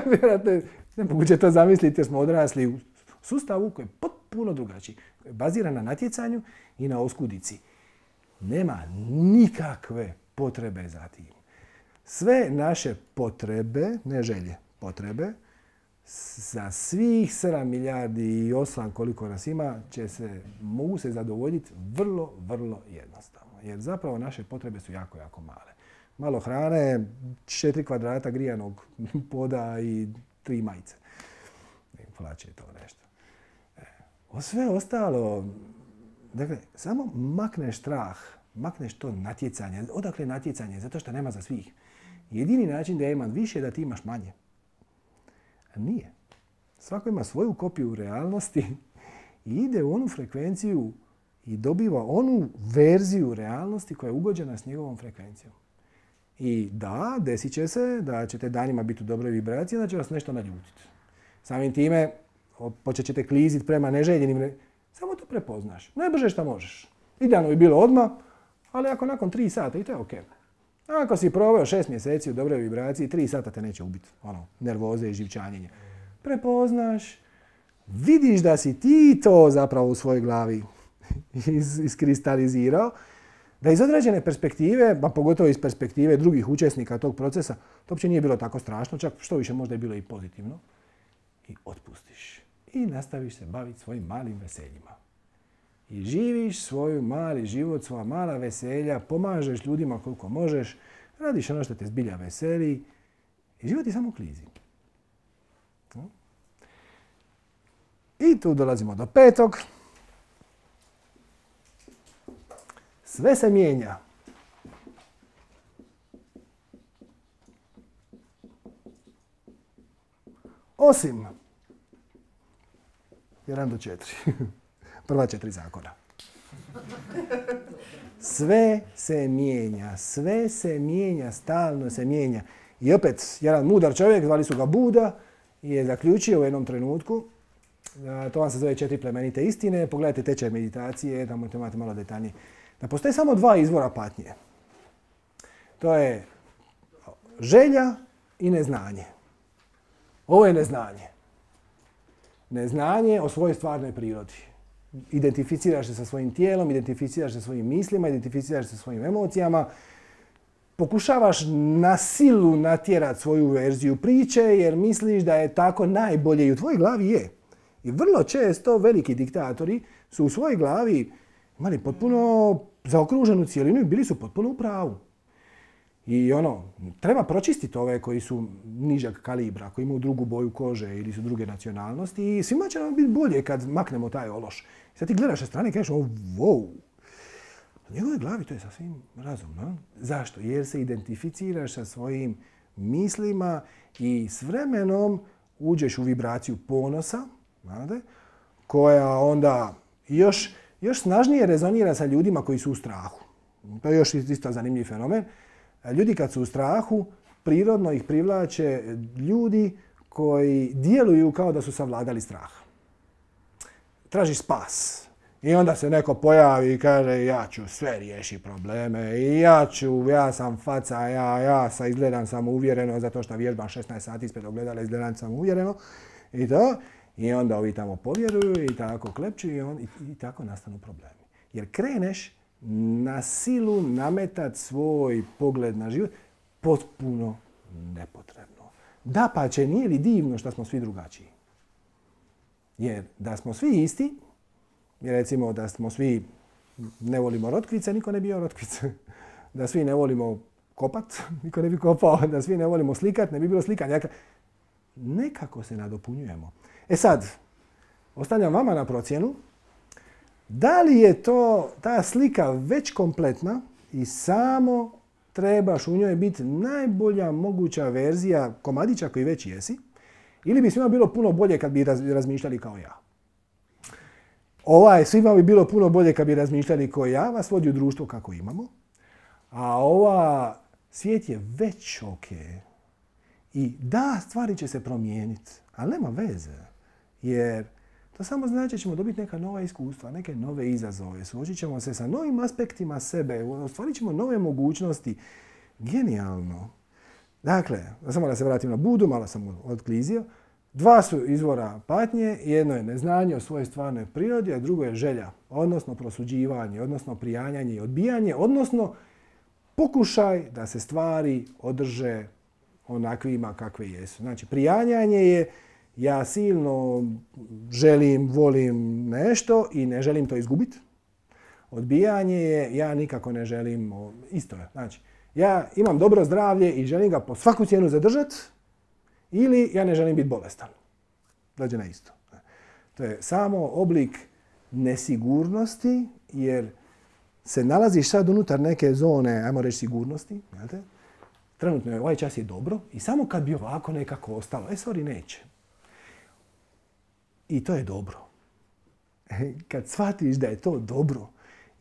Vjerojatno nemoguće to zamisliti jer smo odrasli u sustavu koji je potpuno drugačiji. Koji je baziran na natjecanju i na oskudici. Nema nikakve potrebe za tim. Sve naše potrebe, ne želje, potrebe, za svih sedam milijardi i osam koliko nas ima, će se, mogu se zadovoljiti vrlo, vrlo jednostavno. Jer zapravo naše potrebe su jako, jako male. Malo hrane, četiri kvadrata grijanog poda i tri majice. Plaće je to nešto. O sve ostalo, dakle, samo makneš strah, makneš to natjecanje. Odakle natjecanje? Zato što nema za svih. Jedini način da ja imam više je da ti imaš manje. A nije. Svako ima svoju kopiju realnosti i ide u onu frekvenciju i dobiva onu verziju realnosti koja je ugođena s njegovom frekvencijom. I da, desit će se da ćete danima biti u dobroj vibraciji, da će vas nešto naljutiti. Samim time počet ćete kliziti prema neželjenim. Samo to prepoznaš. Najbrže što možeš. Idealno bi bilo odmah, ali ako nakon tri sata i to je ok. Ako si proveo šest mjeseci u dobroj vibraciji, tri sata te neće ubiti. Ono, nervoze i živčanjenje. Prepoznaš, vidiš da si ti to zapravo u svojoj glavi is- iskristalizirao, da iz određene perspektive, pa pogotovo iz perspektive drugih učesnika tog procesa, to uopće nije bilo tako strašno, čak što više možda je bilo i pozitivno. I otpustiš. I nastaviš se baviti svojim malim veseljima. I živiš svoj mali život, svoja mala veselja, pomažeš ljudima koliko možeš, radiš ono što te zbilja veseli i život je samo klizi. I tu dolazimo do petog. Sve se mijenja. Osim jedan do četiri. Prva četiri zakona. Sve se mijenja, sve se mijenja, stalno se mijenja. I opet, jedan mudar čovjek, zvali su ga Buda, je zaključio u jednom trenutku, to vam se zove četiri plemenite istine, pogledajte tečaj meditacije, tamo imate malo detaljnije, da postoje samo dva izvora patnje. To je želja i neznanje. Ovo je neznanje. Neznanje o svojoj stvarnoj prirodi. Identificiraš se sa svojim tijelom, identificiraš se sa svojim mislima, identificiraš se sa svojim emocijama. Pokušavaš na silu natjerati svoju verziju priče jer misliš da je tako najbolje i u tvojoj glavi je. I vrlo često veliki diktatori su u svojoj glavi imali potpuno zaokruženu cijelinu i bili su potpuno u pravu. I ono, treba pročistiti ove koji su nižeg kalibra, koji imaju drugu boju kože ili su druge nacionalnosti i svima će nam biti bolje kad maknemo taj ološ. Sad ti gledaš sa strane i kažeš, wow, u njegovoj glavi to je sasvim razumno. Zašto? Jer se identificiraš sa svojim mislima i s vremenom uđeš u vibraciju ponosa, znate, koja onda još, još snažnije rezonira sa ljudima koji su u strahu. To je još isto zanimljiv fenomen. Ljudi kad su u strahu, prirodno ih privlače ljudi koji djeluju kao da su savladali strah. Tražiš spas. I onda se neko pojavi i kaže ja ću sve riješiti probleme i ja ću, ja sam faca, ja, ja sa izgledam samouvjereno zato što vježbam šesnaest sati ispred ogledala, izgledam samouvjereno i to. I onda ovi tamo povjeruju i tako klepču i, on, i, i tako nastanu problemi. Jer kreneš na silu nametat svoj pogled na život potpuno nepotrebno. Dapače, nije li divno što smo svi drugačiji? Jer da smo svi isti, jer recimo da smo svi ne volimo rotkvice, niko ne bi jeo rotkvice. Da svi ne volimo kopat, niko ne bi kopao. Da svi ne volimo slikat, ne bi bilo slikanja. Nekako se nadopunjujemo. E sad, ostavljam vama na procjenu. Da li je to, ta slika već kompletna i samo trebaš u njoj biti najbolja moguća verzija komadića koji već jesi, ili bi svima bilo puno bolje kad bi razmišljali kao ja? Ovaj, svima bi bilo puno bolje kad bi razmišljali kao ja, vas vodi u društvo kako imamo, a ova svijet je već ok. I da, stvari će se promijeniti, ali nema veze, jer to samo znači da ćemo dobiti neka nova iskustva, neke nove izazove. Suočit ćemo se sa novim aspektima sebe, ostvarit ćemo nove mogućnosti. Genijalno. Dakle, samo da se vratim na Budu, malo sam otklizio. Dva su izvora patnje, jedno je neznanje o svojoj stvarnoj prirodi, a drugo je želja, odnosno prosuđivanje, odnosno prijanjanje i odbijanje, odnosno pokušaj da se stvari održe onakvima kakve jesu. Znači, prijanjanje je ja silno želim, volim nešto i ne želim to izgubiti. Odbijanje je ja nikako ne želim, isto je. Znači, ja imam dobro zdravlje i želim ga po svaku cijenu zadržati ili ja ne želim biti bolestan. Dođe na isto. To je samo oblik nesigurnosti jer se nalaziš sad unutar neke zone, ajmo reći, sigurnosti. Znate? Trenutno je ovaj čas je dobro i samo kad bi ovako nekako ostalo, e sorry, neće. I to je dobro. Kad shvatiš da je to dobro,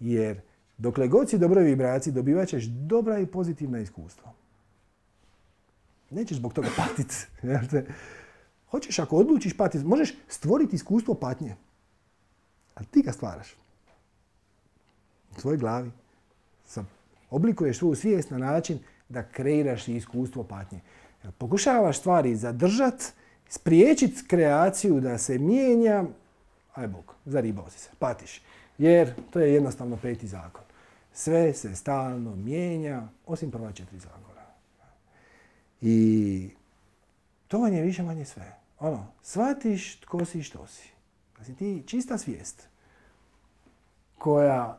jer dokle god si u dobroj vibraciji dobivat ćeš dobra i pozitivna iskustva. Nećeš zbog toga patiti. Hoćeš, ako odlučiš patiti, možeš stvoriti iskustvo patnje. Ali ti ga stvaraš. U svojoj glavi. Oblikuješ svoju svijest na način da kreiraš iskustvo patnje. Pokušavaš stvari zadržati, spriječiti kreaciju da se mijenja, aj Bog, zaribao si se, patiš. Jer to je jednostavno peti zakon. Sve se stalno mijenja, osim prva četiri zakona. I to vam je više manje sve. Ono, shvatiš tko si i što si. Znači ti čista svijest koja,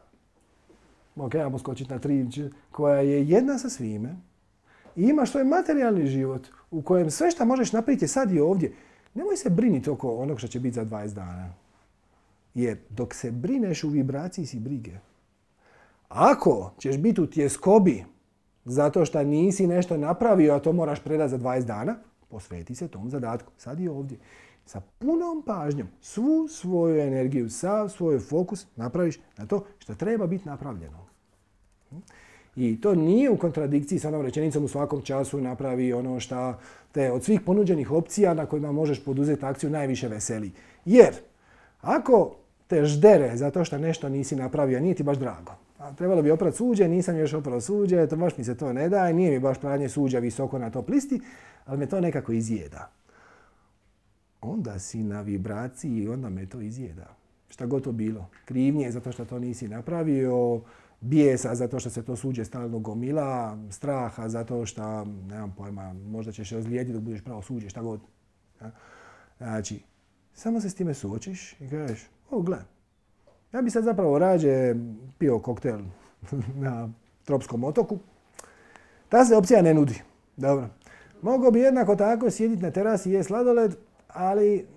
ok, ja poskočiti na tri, koja je jedna sa svime i imaš svoj materijalni život u kojem sve što možeš napraviti je sad i ovdje. Nemoj se briniti oko onog što će biti za dvadeset dana. Jer dok se brineš u vibraciji si brige. Ako ćeš biti u tjeskobi zato što nisi nešto napravio, a to moraš predati za dvadeset dana, posveti se tom zadatku. Sad i ovdje. Sa punom pažnjom svu svoju energiju, sav svoj fokus napraviš na to što treba biti napravljeno. I to nije u kontradikciji sa onom rečenicom u svakom času napravi ono što te od svih ponuđenih opcija na kojima možeš poduzeti akciju najviše veseli. Jer ako te ždere zato što nešto nisi napravio, nije ti baš drago. A trebalo bi oprati suđe, nisam još oprao suđe, to baš mi se to ne daje, nije mi baš pranje suđa visoko na top listi, ali me to nekako izjeda. Onda si na vibraciji i onda me to izjeda. Šta god to bilo. Krivnje zato što to nisi napravio, bijesa zato što se to suđe stalno gomila, straha zato što, nemam pojma, možda ćeš se ozlijediti dok budeš pravo suđe, šta god. Znači, samo se s time suočiš i kažeš, o, gle, ja bi sad zapravo rađe pio koktel na tropskom otoku. Ta se opcija ne nudi. Dobro. Mogao bi jednako tako sjediti na terasi i jesti sladoled, ali,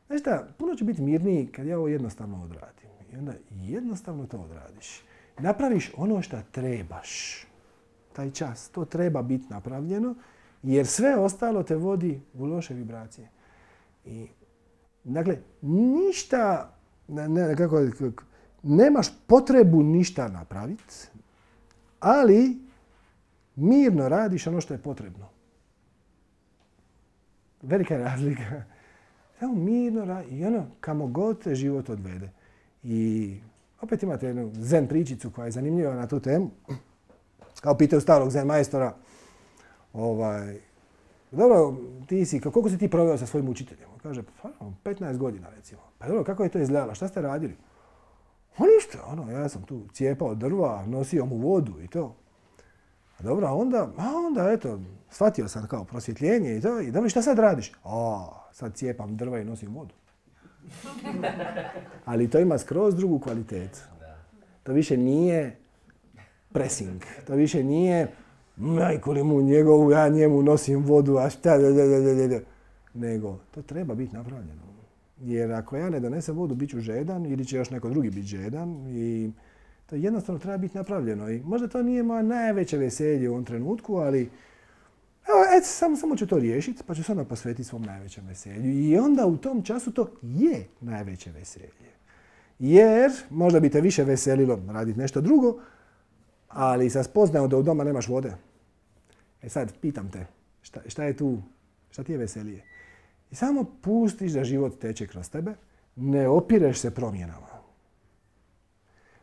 znaš šta, puno će biti mirniji kad ja ovo jednostavno odradim. I onda jednostavno to odradiš. Napraviš ono što trebaš. Taj čas. To treba biti napravljeno, jer sve ostalo te vodi u loše vibracije. I, dakle, ništa, ne, kako, nemaš potrebu ništa napraviti, ali mirno radiš ono što je potrebno. Velika je razlika. Samo mirno radi i ono kamo god te život odvede. I opet imate jednu zen pričicu koja je zanimljiva na tu temu. Kao pitaju starog zen majstora, ovaj, dobro, ti si, koliko si ti proveo sa svojim učiteljem? Kaže, pa, petnaest godina recimo. Pa dobro, kako je to izgledalo? Šta ste radili? O ništa, ono, ja sam tu cijepao drva, nosio mu vodu i to. A dobro, a onda, a onda, eto, shvatio sam kao prosvjetljenje i to. I dobro, šta sad radiš? A, sad cijepam drva i nosim vodu. Ali to ima skroz drugu kvalitetu. To više nije pressing. To više nije majko li mu njegovu, ja njemu nosim vodu, a šta, da, da, da, da. Nego, to treba biti napravljeno. Jer ako ja ne donesem vodu, bit ću žedan ili će još neko drugi biti žedan. I to jednostavno treba biti napravljeno. I možda to nije moja najveće veselje u ovom trenutku, ali evo, et, samo, samo ću to riješiti, pa ću se onda posvetiti svom najvećem veselju. I onda u tom času to je najveće veselje. Jer možda bi te više veselilo raditi nešto drugo, ali sa spoznajom da u doma nemaš vode. E sad, pitam te, šta, šta je tu, šta ti je veselije? I samo pustiš da život teče kroz tebe, ne opireš se promjenama.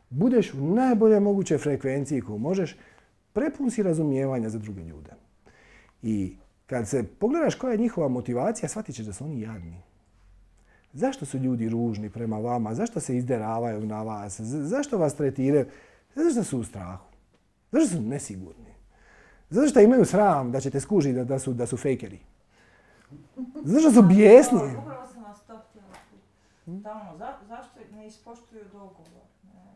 Budeš u najbolje mogućoj frekvenciji koju možeš, prepun si razumijevanja za druge ljude. I kad se pogledaš koja je njihova motivacija, shvatit ćeš da su oni jadni. Zašto su ljudi ružni prema vama? Zašto se izderavaju na vas? Zašto vas tretiraju? Zato što su u strahu. Zašto su nesigurni? Zato što imaju sram da ćete skužiti da, da, su, da su fejkeri. Zato što su bijesni. Upravo sam vas to htjela pitati. Za, zašto ne ispoštuju dogovor?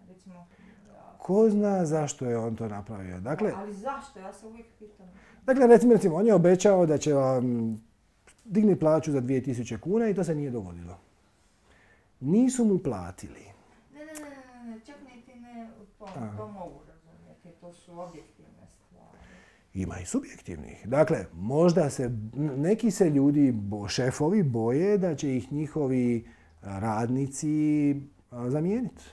Recimo, ja... Ko zna zašto je on to napravio? Dakle, ali zašto? Ja se uvijek pitam. Dakle, recimo, recimo, on je obećao da će vam digni plaću za dvije tisuće kuna i to se nije dogodilo. Nisu mu platili. Ne, ne, ne, ne, čak niti ne, to, to mogu razumjeti, to su objektivne stvari. Ima i subjektivnih. Dakle, možda se, neki se ljudi, šefovi, boje da će ih njihovi radnici zamijeniti.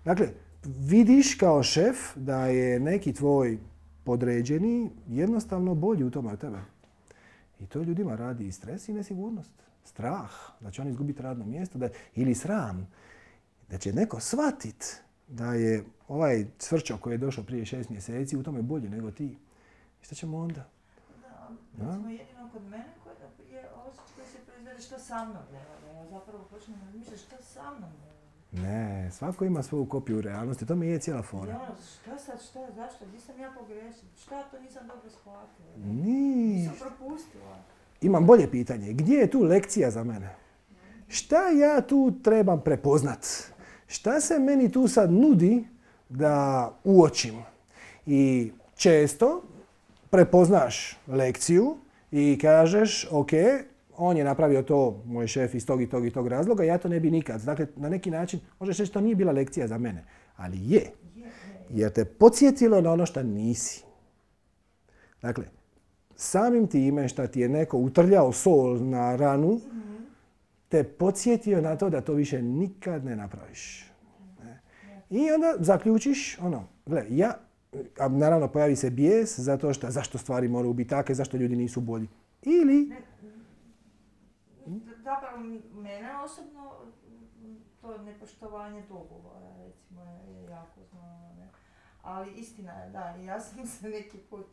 Dakle, vidiš kao šef da je neki tvoj podređeni jednostavno bolji u tome od tebe. I to ljudima radi i stres i nesigurnost. Strah da će on izgubiti radno mjesto da, ili sram da će neko shvatit da je ovaj cvrčo koji je došao prije šest mjeseci u tome bolji nego ti. I šta ćemo onda? Da, recimo jedino kod mene koji je osjećaj koji se proizvede što sa mnom ne valja. Ja zapravo počnem razmišljati što sa mnom ne valja. Ne, svako ima svoju kopiju realnosti, to mi je cijela fora. Ja, šta sad, šta, zašto, gdje sam ja pogrešila, šta to nisam dobro shvatila? Nis... Nisam propustila. Imam bolje pitanje, gdje je tu lekcija za mene? Šta ja tu trebam prepoznat? Šta se meni tu sad nudi da uočim? I često prepoznaš lekciju i kažeš, ok, on je napravio to, moj šef, iz tog i tog i tog razloga, ja to ne bi nikad. Dakle, na neki način, možeš reći, to nije bila lekcija za mene. Ali je. Jer te podsjetilo na ono što nisi. Dakle, samim time što ti je neko utrljao sol na ranu, te podsjetio na to da to više nikad ne napraviš. I onda zaključiš, ono, gle, ja, a naravno pojavi se bijes zato što zašto stvari moraju biti takve, zašto ljudi nisu bolji. Ili... Zapravo, mene osobno to nepoštovanje dogovora, recimo, je jako znano, ne? Ali istina je, da, ja sam se neki put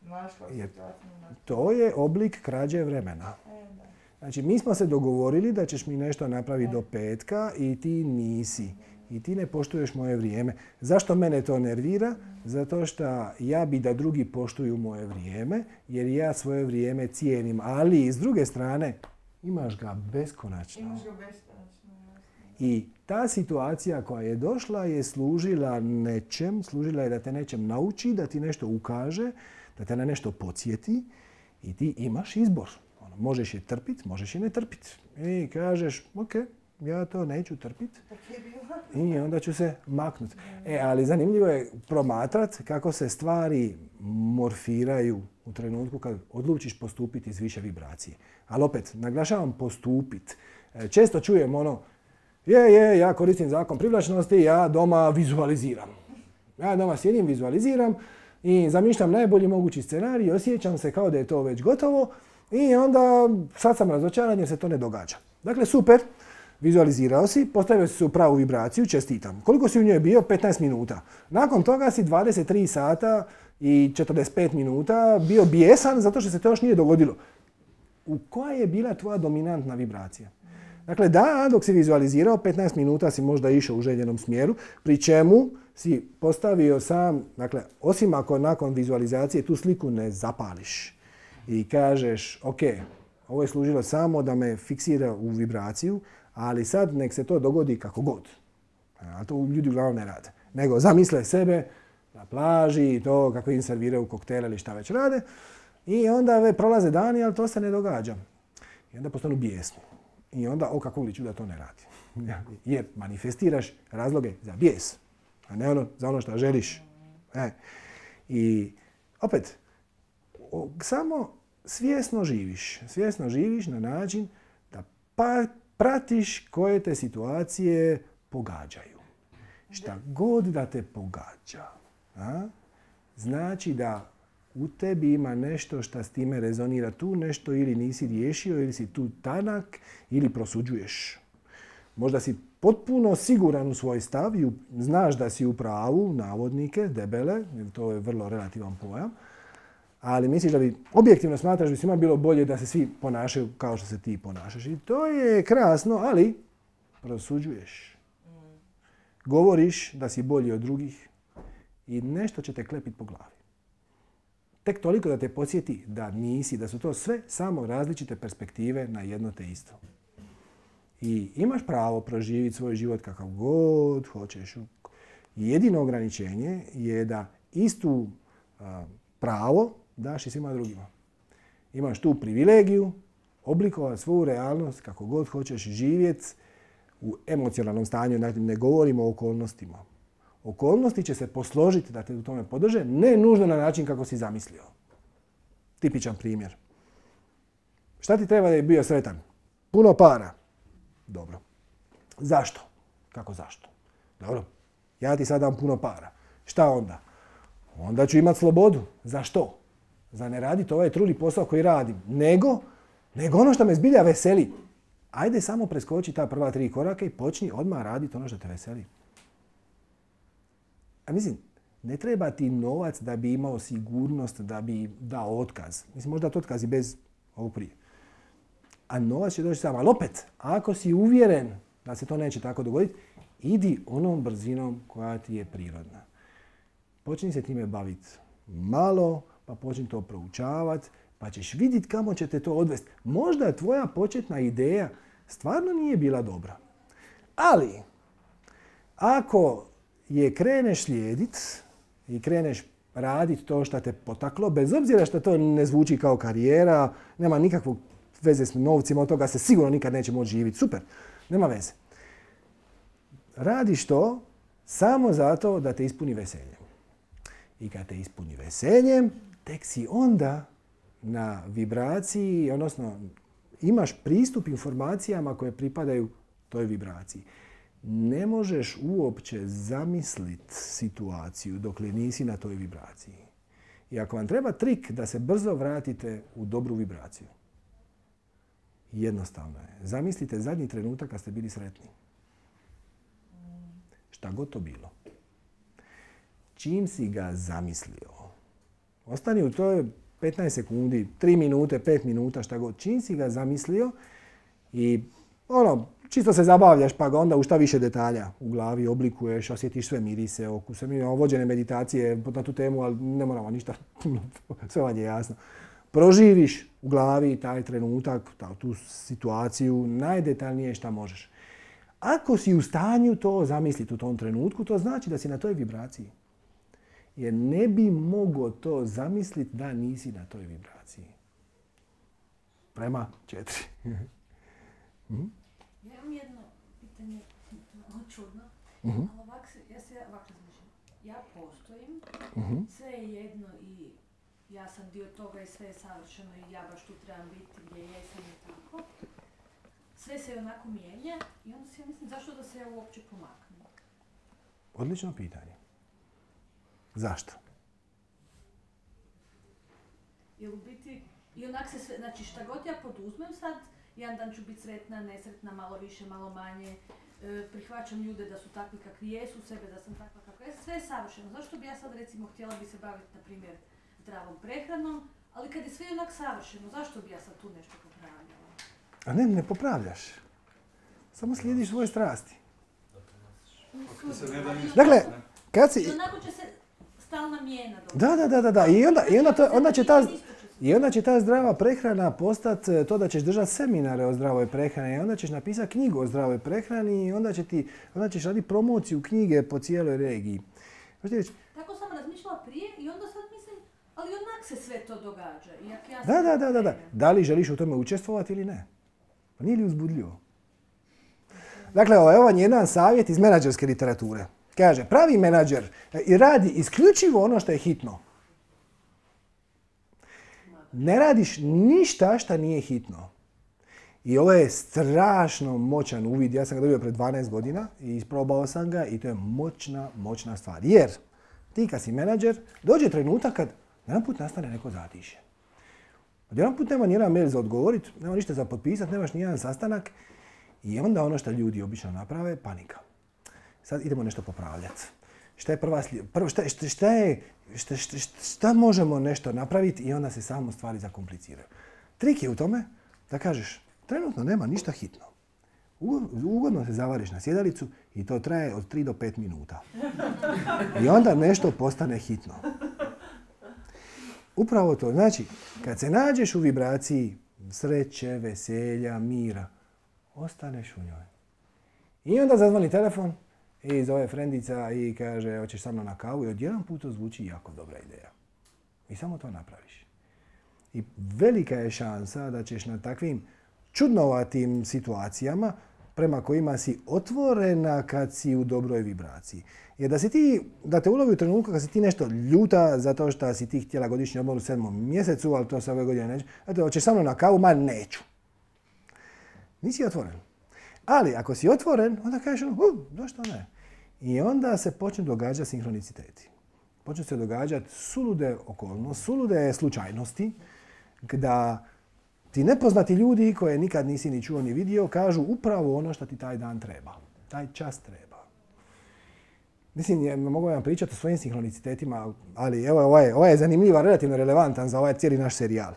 našla u situaciju. To je oblik krađe vremena. E, da. Znači, mi smo se dogovorili da ćeš mi nešto napraviti do petka i ti nisi. I ti ne poštuješ moje vrijeme. Zašto mene to nervira? Zato što ja bi da drugi poštuju moje vrijeme, jer ja svoje vrijeme cijenim. Ali, s druge strane, imaš ga beskonačno. Imaš ga beskonačno, jasno. I ta situacija koja je došla je služila nečem, služila je da te nečem nauči, da ti nešto ukaže, da te na nešto podsjeti i ti imaš izbor. Ono, možeš je trpiti, možeš je ne trpiti. I kažeš, ok, ja to neću trpiti i onda ću se maknuti. E, ali zanimljivo je promatrati kako se stvari morfiraju u trenutku kad odlučiš postupiti iz više vibracije. Ali opet, naglašavam postupiti. Često čujem ono, je, je, ja koristim zakon privlačnosti, ja doma vizualiziram. Ja doma sjedim, vizualiziram i zamišljam najbolji mogući scenarij i osjećam se kao da je to već gotovo i onda sad sam razočaran jer se to ne događa. Dakle, super. Vizualizirao si, postavio si se u pravu vibraciju, čestitam. Koliko si u njoj bio? petnaest minuta. Nakon toga si dvadeset tri sata i četrdeset pet minuta bio bijesan zato što se to još nije dogodilo. U koja je bila tvoja dominantna vibracija? Dakle, da, dok si vizualizirao, petnaest minuta si možda išao u željenom smjeru, pri čemu si postavio sam, dakle, osim ako nakon vizualizacije tu sliku ne zapališ i kažeš, ok, ovo je služilo samo da me fiksira u vibraciju, ali sad nek se to dogodi kako god. A to ljudi uglavnom ne rade. Nego zamisle sebe na plaži i to kako im serviraju koktele ili šta već rade. I onda prolaze dani, ali to se ne događa. I onda postanu bijesni. I onda, o kako li ću da to ne radi. Jer manifestiraš razloge za bijes, a ne ono, za ono što želiš. E. I opet, o, samo svjesno živiš. Svjesno živiš na način da pa pratiš koje te situacije pogađaju. Šta god da te pogađa, a? Znači da u tebi ima nešto što s time rezonira, tu nešto ili nisi riješio, ili si tu tanak, ili prosuđuješ. Možda si potpuno siguran u svoj stav i znaš da si u pravu, navodnike, debele, jer to je vrlo relativan pojam, ali misliš da bi, objektivno smatraš da bi svima bilo bolje da se svi ponašaju kao što se ti ponašaš. I to je krasno, ali prosuđuješ. Govoriš da si bolji od drugih i nešto će te klepiti po glavi. Tek toliko da te podsjeti da nisi, da su to sve samo različite perspektive na jedno te isto. I imaš pravo proživjeti svoj život kakav god hoćeš. Jedino ograničenje je da istu a, pravo daš i svima drugima. Imaš tu privilegiju oblikovati svoju realnost kako god hoćeš živjeti u emocionalnom stanju. Ne govorimo o okolnostima. Okolnosti će se posložiti da te u tome podrže, ne nužno na način kako si zamislio. Tipičan primjer. Šta ti treba da je bio sretan? Puno para. Dobro. Zašto? Kako zašto? Dobro. Ja ti sad dam puno para. Šta onda? Onda ću imati slobodu. Za što? Za ne raditi ovaj truli posao koji radim. Nego, nego ono što me zbilja veseli. Ajde samo preskoči ta prva tri koraka i počni odmah raditi ono što te veseli. A mislim, ne treba ti novac da bi imao sigurnost, da bi dao otkaz. Mislim, možda to otkaz i bez ovog prije. A novac će doći sam. Ali opet, ako si uvjeren da se to neće tako dogoditi, idi onom brzinom koja ti je prirodna. Počni se time baviti malo, pa počni to proučavati, pa ćeš vidjeti kamo će te to odvesti. Možda tvoja početna ideja stvarno nije bila dobra. Ali, ako je kreneš slijediti i kreneš raditi to što te potaklo, bez obzira što to ne zvuči kao karijera, nema nikakvog veze s novcima, od toga se sigurno nikad neće moći živjeti. Super, nema veze. Radiš to samo zato da te ispuni veseljem. I kad te ispuni veseljem, tek si onda na vibraciji, odnosno imaš pristup informacijama koje pripadaju toj vibraciji. ne možeš uopće zamisliti situaciju dokle nisi na toj vibraciji. I ako vam treba trik da se brzo vratite u dobru vibraciju, jednostavno je. Zamislite zadnji trenutak kad ste bili sretni. Šta god to bilo. Čim si ga zamislio, ostani u toj petnaest sekundi, tri minute, pet minuta, šta god. Čim si ga zamislio i ono, čisto se zabavljaš pa ga onda u šta više detalja u glavi oblikuješ, osjetiš sve mirise, okuse. Mi imamo vođene meditacije na tu temu, ali ne moramo ništa, sve vam je jasno. Proživiš u glavi taj trenutak, tu situaciju, najdetaljnije šta možeš. Ako si u stanju to zamisliti u tom trenutku, to znači da si na toj vibraciji. Jer ne bi mogao to zamisliti da nisi na toj vibraciji. Prema četiri. hm? Ja imam jedno pitanje, ono čudno, uh-huh. ali ovak se, ja se ovak razmišljam. Ja postojim, uh-huh. sve je jedno i ja sam dio toga i sve je savršeno i ja baš tu trebam biti gdje jesam i tako. Sve se onako mijenja i onda si ja mislim zašto da se ja uopće pomaknem? Odlično pitanje. Zašto? Jer u biti, i onak se sve, znači šta god ja poduzmem sad, jedan dan ću biti sretna, nesretna, malo više, malo manje, e, prihvaćam ljude da su takvi kakvi jesu, sebe da sam takva kakva jesam, sve je savršeno. Zašto bi ja sad recimo htjela bi se baviti, na primjer, zdravom prehranom, ali kad je sve onak savršeno, zašto bi ja sad tu nešto popravljala? A ne, ne popravljaš. Samo slijediš svoje strasti. Dakle, kad si... I onako će se stalna mijena dobiti. Da, da, da, da, da. I onda, i onda, to, onda će ta... I onda će ta zdrava prehrana postati to da ćeš držati seminare o zdravoj prehrani i onda ćeš napisati knjigu o zdravoj prehrani i onda, će ti, onda ćeš raditi promociju knjige po cijeloj regiji. Tako sam razmišljala prije i onda sad mislim, ali onak se sve to događa. Iak ja da, da, da, da, da. Da li želiš u tome učestvovati ili ne? Pa nije li uzbudljivo? Dakle, ovo je ovaj jedan savjet iz menadžerske literature. Kaže, pravi menadžer radi isključivo ono što je hitno. Ne radiš ništa što nije hitno. I ovo je strašno moćan uvid. Ja sam ga dobio pred dvanaest godina i isprobao sam ga i to je moćna, moćna stvar. Jer ti kad si menadžer, dođe trenutak kad jedan put nastane neko zatišje. Jedan put nema nijedan mail za odgovoriti, nema ništa za potpisati, nemaš nijedan sastanak i onda ono što ljudi obično naprave, panika. Sad idemo nešto popravljati. Šta je prva slijed... Prvo, šta, šta, šta, je, šta, šta, šta možemo nešto napraviti i onda se samo stvari zakompliciraju. Trik je u tome da kažeš, trenutno nema ništa hitno. Ugodno se zavariš na sjedalicu i to traje od tri do pet minuta. I onda nešto postane hitno. Upravo to. Znači, kad se nađeš u vibraciji sreće, veselja, mira, ostaneš u njoj. I onda zazvoni telefon i zove frendica i kaže hoćeš sa mnom na kavu i odjedan put to zvuči jako dobra ideja. I samo to napraviš. I velika je šansa da ćeš na takvim čudnovatim situacijama prema kojima si otvorena kad si u dobroj vibraciji. Jer da si ti, da te ulovi u trenutku kad si ti nešto ljuta zato što si ti htjela godišnji odmor u sedmom mjesecu, ali to se ove godine neće. Eto, hoćeš sa mnom na kavu, ma neću. Nisi otvoren. Ali ako si otvoren, onda kažeš, uh, zašto ne? I onda se počnu događati sinhroniciteti. Počnu se događati sulude okolnosti, sulude slučajnosti, da ti nepoznati ljudi koje nikad nisi ni čuo ni vidio kažu upravo ono što ti taj dan treba. Taj čas treba. Mislim, ja mogu vam pričati o svojim sinhronicitetima, ali evo, ovo je, ovo je zanimljiva, relativno relevantan za ovaj cijeli naš serijal.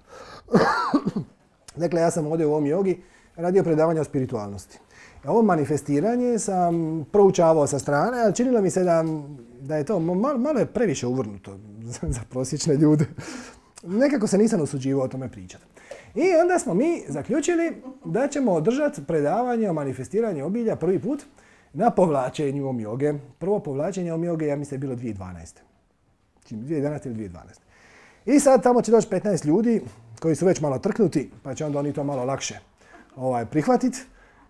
Dakle, ja sam ovdje u ovom jogi radio predavanje o spiritualnosti. Ovo manifestiranje sam proučavao sa strane, ali činilo mi se da, da je to malo, malo je previše uvrnuto za, za prosječne ljude. Nekako se nisam usuđivao o tome pričati. I onda smo mi zaključili da ćemo održati predavanje o manifestiranju obilja prvi put na povlačenju om joge. Prvo povlačenje om joge, ja mislim, je bilo dvije tisuće jedanaeste. dvije tisuće jedanaeste ili dvije tisuće dvanaeste. I sad tamo će doći petnaest ljudi koji su već malo trknuti, pa će onda oni to malo lakše ovaj, prihvatiti.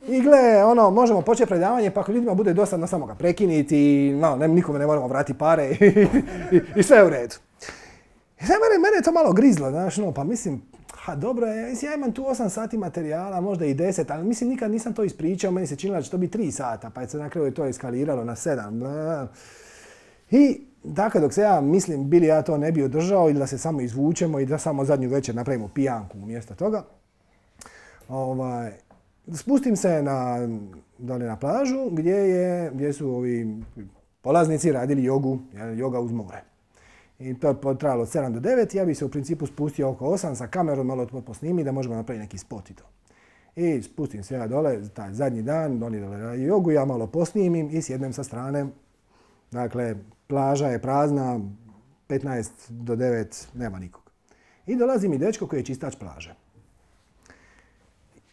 I gle, ono, možemo početi predavanje, pa ako ljudima bude dosadno, samo ga prekiniti i no, ne, nikome ne moramo vratiti pare i, i, i sve je u redu. I sad mene, mene je to malo grizlo, znaš, no, pa mislim, ha dobro, mislim, ja imam tu osam sati materijala, možda i deset, ali mislim nikad nisam to ispričao, meni se činilo da će to biti tri sata, pa je se na kraju to eskaliralo na sedam. I dakle, dok se ja mislim, bili ja to ne bi održao ili da se samo izvučemo i da samo zadnju večer napravimo pijanku umjesto toga. Ovaj, spustim se na, dole na plažu gdje, je, gdje su ovi polaznici radili jogu, joga uz more. I to je potrajalo od sedam do devet, ja bi se u principu spustio oko osam sa kamerom, malo to posnimi da možemo napraviti neki spot i to. I spustim se ja dole, taj zadnji dan, oni dole radi jogu, ja malo posnimim i sjednem sa strane. Dakle, plaža je prazna, petnaest do devet, nema nikog. I dolazi mi dečko koji je čistač plaže.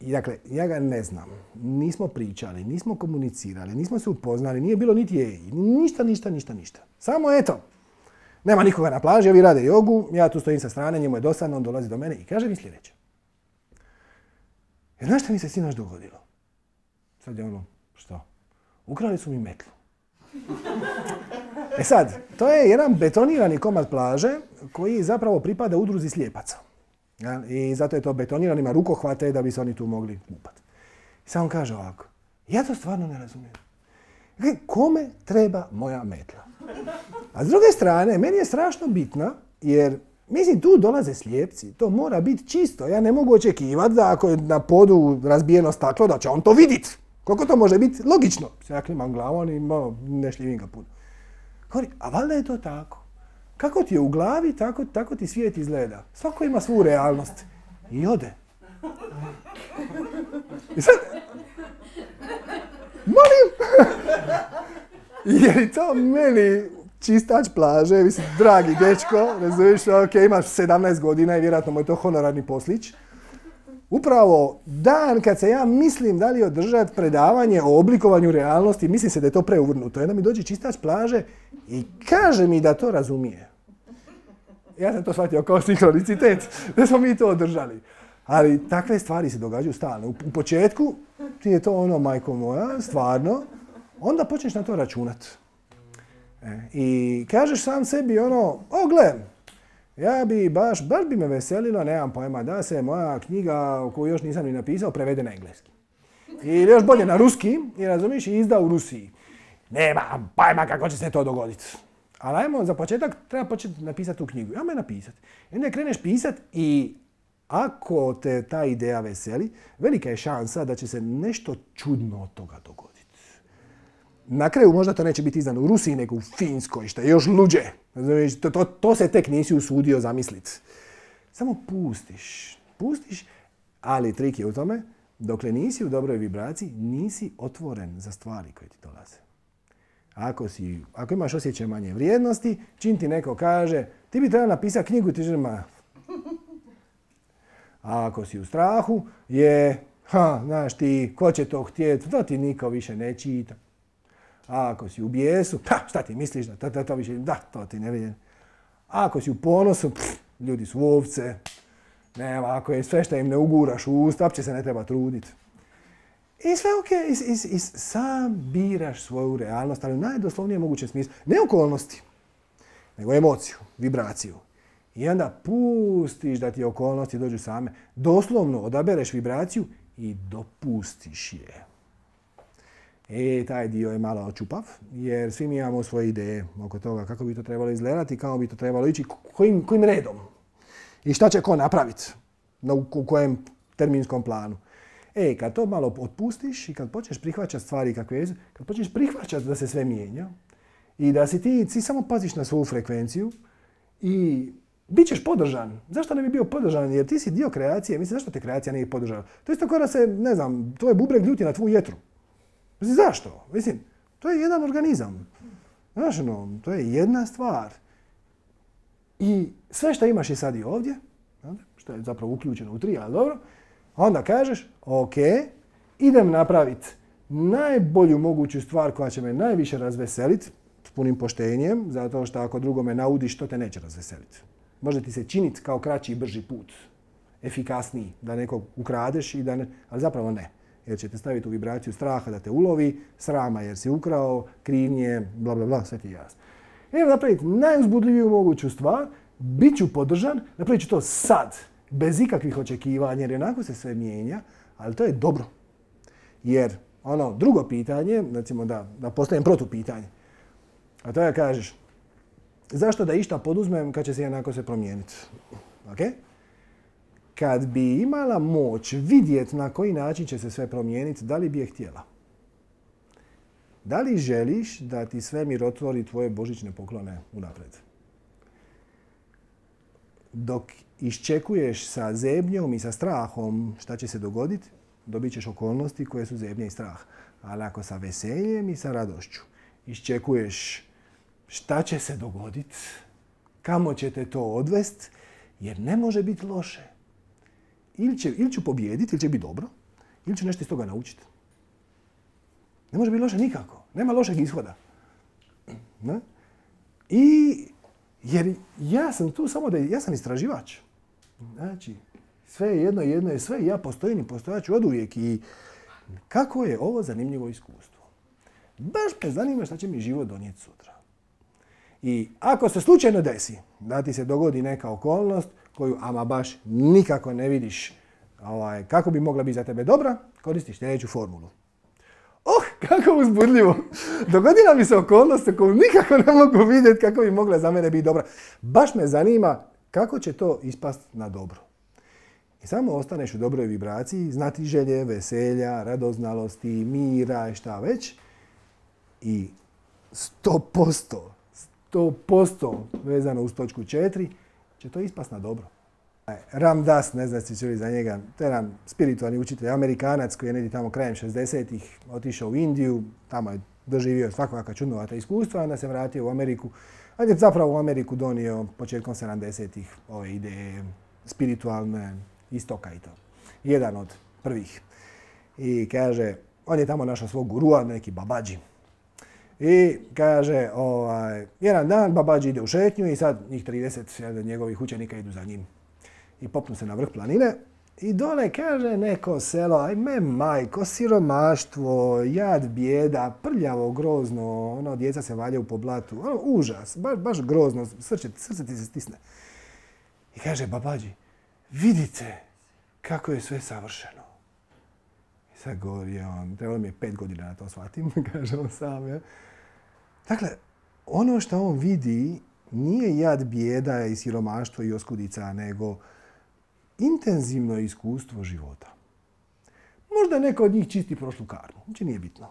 I dakle, ja ga ne znam, nismo pričali, nismo komunicirali, nismo se upoznali, nije bilo niti jej, ništa, ništa, ništa, ništa. Samo eto, nema nikoga na plaži, ovi rade jogu, ja tu stojim sa strane, njemu je dosadno, on dolazi do mene i kaže mi sljedeće. Jer znaš šta mi se sinoć dogodilo? Sad je ono, što? Ukrali su mi metlu. E sad, to je jedan betonirani komad plaže koji zapravo pripada udruzi slijepaca. I zato je to betoniran, ima rukohvate da bi se oni tu mogli kupati. I sad on kaže ovako, ja to stvarno ne razumijem. Kome treba moja metla? A s druge strane, meni je strašno bitna, jer mislim tu dolaze slijepci, to mora biti čisto. Ja ne mogu očekivati da ako je na podu razbijeno staklo, da će on to vidjeti. Koliko to može biti logično? Ja klimam glavom i malo ne šljivim ga puno. Govori, a valjda je to tako. Kako ti je u glavi, tako, tako ti svijet izgleda. Svako ima svu realnost. I ode. I sad... Molim! Jer to meni čistač plaže, mislim, dragi dečko, razumiješ, ok, imaš sedamnaest godina i vjerojatno mu je to honorarni poslić. Upravo dan kad se ja mislim da li održati predavanje o oblikovanju realnosti, mislim se da je to preuvrnuto. Jedna mi dođe čistač plaže i kaže mi da to razumije. Ja sam to shvatio kao sinkronicitet, da smo mi to održali. Ali takve stvari se događaju stalno. U početku ti je to ono, majko moja, stvarno, onda počneš na to računat. E, I kažeš sam sebi ono, o gle, ja bi baš, baš bi me veselilo, nemam pojma, da se moja knjiga koju još nisam ni napisao prevede na engleski. Ili još bolje na ruski, i razumiješ, i izda u Rusiji. Nema pojma kako će se to dogoditi. Ali ajmo, za početak treba početi napisati tu knjigu. Ajmo je napisati. I onda kreneš pisati i ako te ta ideja veseli, velika je šansa da će se nešto čudno od toga dogoditi. Na kraju možda to neće biti izdano u Rusiji, nego u Finskoj, što je još luđe. To, to, to se tek nisi usudio zamisliti. Samo pustiš. Pustiš, ali trik je u tome, dokle nisi u dobroj vibraciji, nisi otvoren za stvari koje ti dolaze. Ako, si, ako imaš osjećaj manje vrijednosti, čim ti neko kaže, ti bi trebao napisati knjigu, ti želima. A ako si u strahu, je, ha, znaš ti, ko će to htjeti, to ti niko više ne čita. A ako si u bijesu, pa šta ti misliš da to, to, to više, da, to ti ne vidim. A ako si u ponosu, pff, ljudi su ovce. Nema, ako je sve što im ne uguraš u usta, uopće se ne treba truditi. I sve ok, i, i, i sam biraš svoju realnost, ali u najdoslovnijem mogućem smislu. Ne okolnosti, nego emociju, vibraciju. I onda pustiš da ti okolnosti dođu same. Doslovno odabereš vibraciju i dopustiš je. E, taj dio je malo očupav, jer svi mi imamo svoje ideje oko toga kako bi to trebalo izgledati, kako bi to trebalo ići, kojim, kojim redom. I šta će ko napraviti, u kojem terminskom planu. E, kad to malo otpustiš i kad počneš prihvaćati stvari kakve jesu, kad počneš prihvaćati da se sve mijenja i da si ti, ti samo paziš na svoju frekvenciju i bit ćeš podržan. Zašto ne bi bio podržan? Jer ti si dio kreacije, mislim, zašto te kreacija nije podržala? To je isto kao da se, ne znam, tvoj bubreg ljuti na tvu jetru. Mislim, zašto? Mislim, to je jedan organizam. Znaš, no, to je jedna stvar. I sve što imaš je sad i ovdje, što je zapravo uključeno u tri, ali dobro, onda kažeš, ok, idem napraviti najbolju moguću stvar koja će me najviše razveseliti, s punim poštenjem, zato što ako drugome naudiš, to te neće razveseliti. Može ti se činiti kao kraći i brži put, efikasniji, da nekog ukradeš, i da ne, ali zapravo ne. Jer će te staviti u vibraciju straha da te ulovi, srama jer si ukrao, krivnje, bla bla bla, sve ti je jasno. Idem napraviti najuzbudljiviju moguću stvar, bit ću podržan, napravit ću to sad. bez ikakvih očekivanja, jer onako se sve mijenja, ali to je dobro. Jer ono drugo pitanje, recimo da, da postavim protupitanje, a to je kažeš, zašto da išta poduzmem kad će se jednako se promijeniti? Okay? Kad bi imala moć vidjeti na koji način će se sve promijeniti, da li bi je htjela? Da li želiš da ti svemir otvori tvoje božićne poklone unaprijed? Dok iščekuješ sa zebnjom i sa strahom šta će se dogoditi, dobit ćeš okolnosti koje su zebnja i strah. Ali ako sa veseljem i sa radošću iščekuješ šta će se dogoditi, kamo će te to odvest, jer ne može biti loše. Ili, će, ili ću pobijediti, ili će biti dobro, ili ću nešto iz toga naučiti. Ne može biti loše nikako. Nema lošeg ishoda. Ne? I jer ja sam tu samo da ja sam istraživač. Znači, sve je jedno, jedno je sve i ja postojim i postojat ću oduvijek. I kako je ovo zanimljivo iskustvo? Baš me zanima šta će mi život donijeti sutra. I ako se slučajno desi da ti se dogodi neka okolnost koju ama baš nikako ne vidiš ovaj, kako bi mogla biti za tebe dobra, koristiš sljedeću formulu. Oh, kako uzbudljivo! Dogodila mi se okolnost koju nikako ne mogu vidjeti kako bi mogla za mene biti dobra. Baš me zanima kako će to ispast na dobro. I samo ostaneš u dobroj vibraciji, znati želje, veselja, radoznalosti, mira i šta već. I sto posto, sto posto vezano uz točku četiri će to ispast na dobro. Ram Dass, ne znam si čuli za njega, to je jedan spiritualni učitelj, Amerikanac koji je negdje tamo krajem šezdesetih otišao u Indiju, tamo je doživio svakakva čudnovata iskustva, onda se vratio u Ameriku, a je zapravo u Ameriku donio početkom sedamdesetih ove ideje spiritualne istoka i to. Jedan od prvih. I kaže, on je tamo našao svog gurua, neki Babađi. I kaže, ovaj, jedan dan Babađi ide u šetnju i sad njih trideset njegovih učenika idu za njim. I popnu se na vrh planine i dole kaže neko selo, ajme majko, siromaštvo, jad, bijeda, prljavo, grozno, ono, djeca se valjaju po blatu, ono, užas, baš, baš grozno, srce, srce ti se stisne. I kaže Babađi, vidite kako je sve savršeno. I sad govori on, trebalo mi je pet godina da to shvatim, kaže on sam. Ja. Dakle, ono što on vidi nije jad, bijeda i siromaštvo i oskudica, nego intenzivno iskustvo života. Možda neko od njih čisti prošlu karmu, znači nije bitno.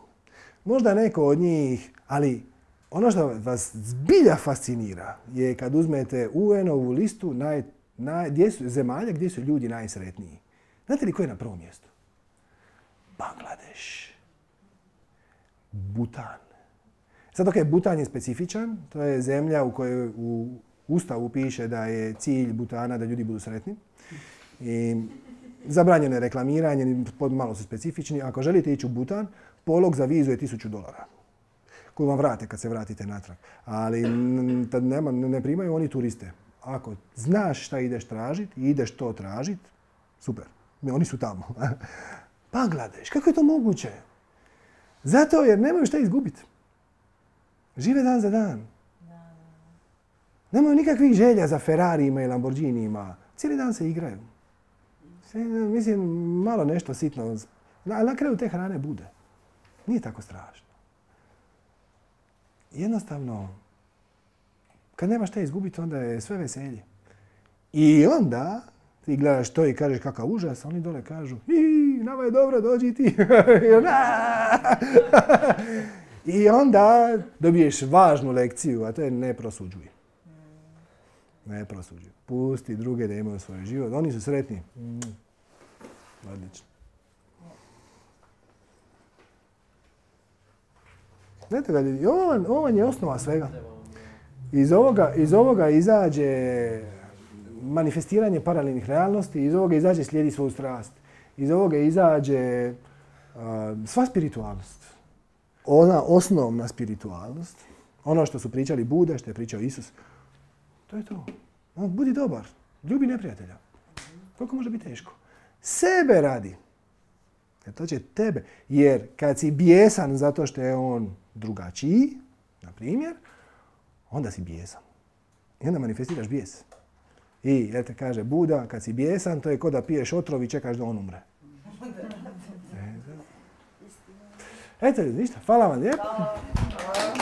Možda neko od njih, ali ono što vas zbilja fascinira je kad uzmete U N-ovu listu naj, naj, gdje su, zemalja gdje su ljudi najsretniji. Znate li ko je na prvom mjestu? Bangladeš. Butan. Sad dok je Butan je specifičan, to je zemlja u kojoj u Ustavu piše da je cilj Butana da ljudi budu sretni. I zabranjeno je reklamiranje, malo su specifični. Ako želite ići u Butan, polog za vizu je tisuću dolara. Koju vam vrate kad se vratite natrag. Ali nema, ne primaju oni turiste. Ako znaš šta ideš tražiti i ideš to tražiti, super. Oni su tamo. Bangladeš, kako je to moguće? Zato jer nemaju šta izgubiti. Žive dan za dan. Nemaju nikakvih želja za Ferrarijima i Lamborghinijima. Cijeli dan se igraju. Mislim, malo nešto sitno. Ali na kraju te hrane bude. Nije tako strašno. Jednostavno, kad nemaš šta izgubiti, onda je sve veselje. I onda ti gledaš to i kažeš kakav užas, oni dole kažu i nama je dobro, dođi ti. I onda dobiješ važnu lekciju, a to je ne prosuđuj. Ne prosuđuj. Pusti druge da imaju svoj život. Oni su sretni. Mm. Odlično. Znate ga, ovo, ovo je osnova svega. Iz ovoga, iz ovoga izađe manifestiranje paralelnih realnosti, iz ovoga izađe slijedi svoju strast. Iz ovoga izađe uh, sva spiritualnost. Ona osnovna spiritualnost, ono što su pričali Buda, što je pričao Isus, to je to. Budi dobar, ljubi neprijatelja. Koliko može biti teško? Sebe radi. Jer to će tebe. Jer kad si bijesan zato što je on drugačiji, na primjer, onda si bijesan. I onda manifestiraš bijes. I, jer te kaže Buda, kad si bijesan, to je ko da piješ otrov i čekaš da on umre. Eto, ništa, hvala vam lijepo. Hvala.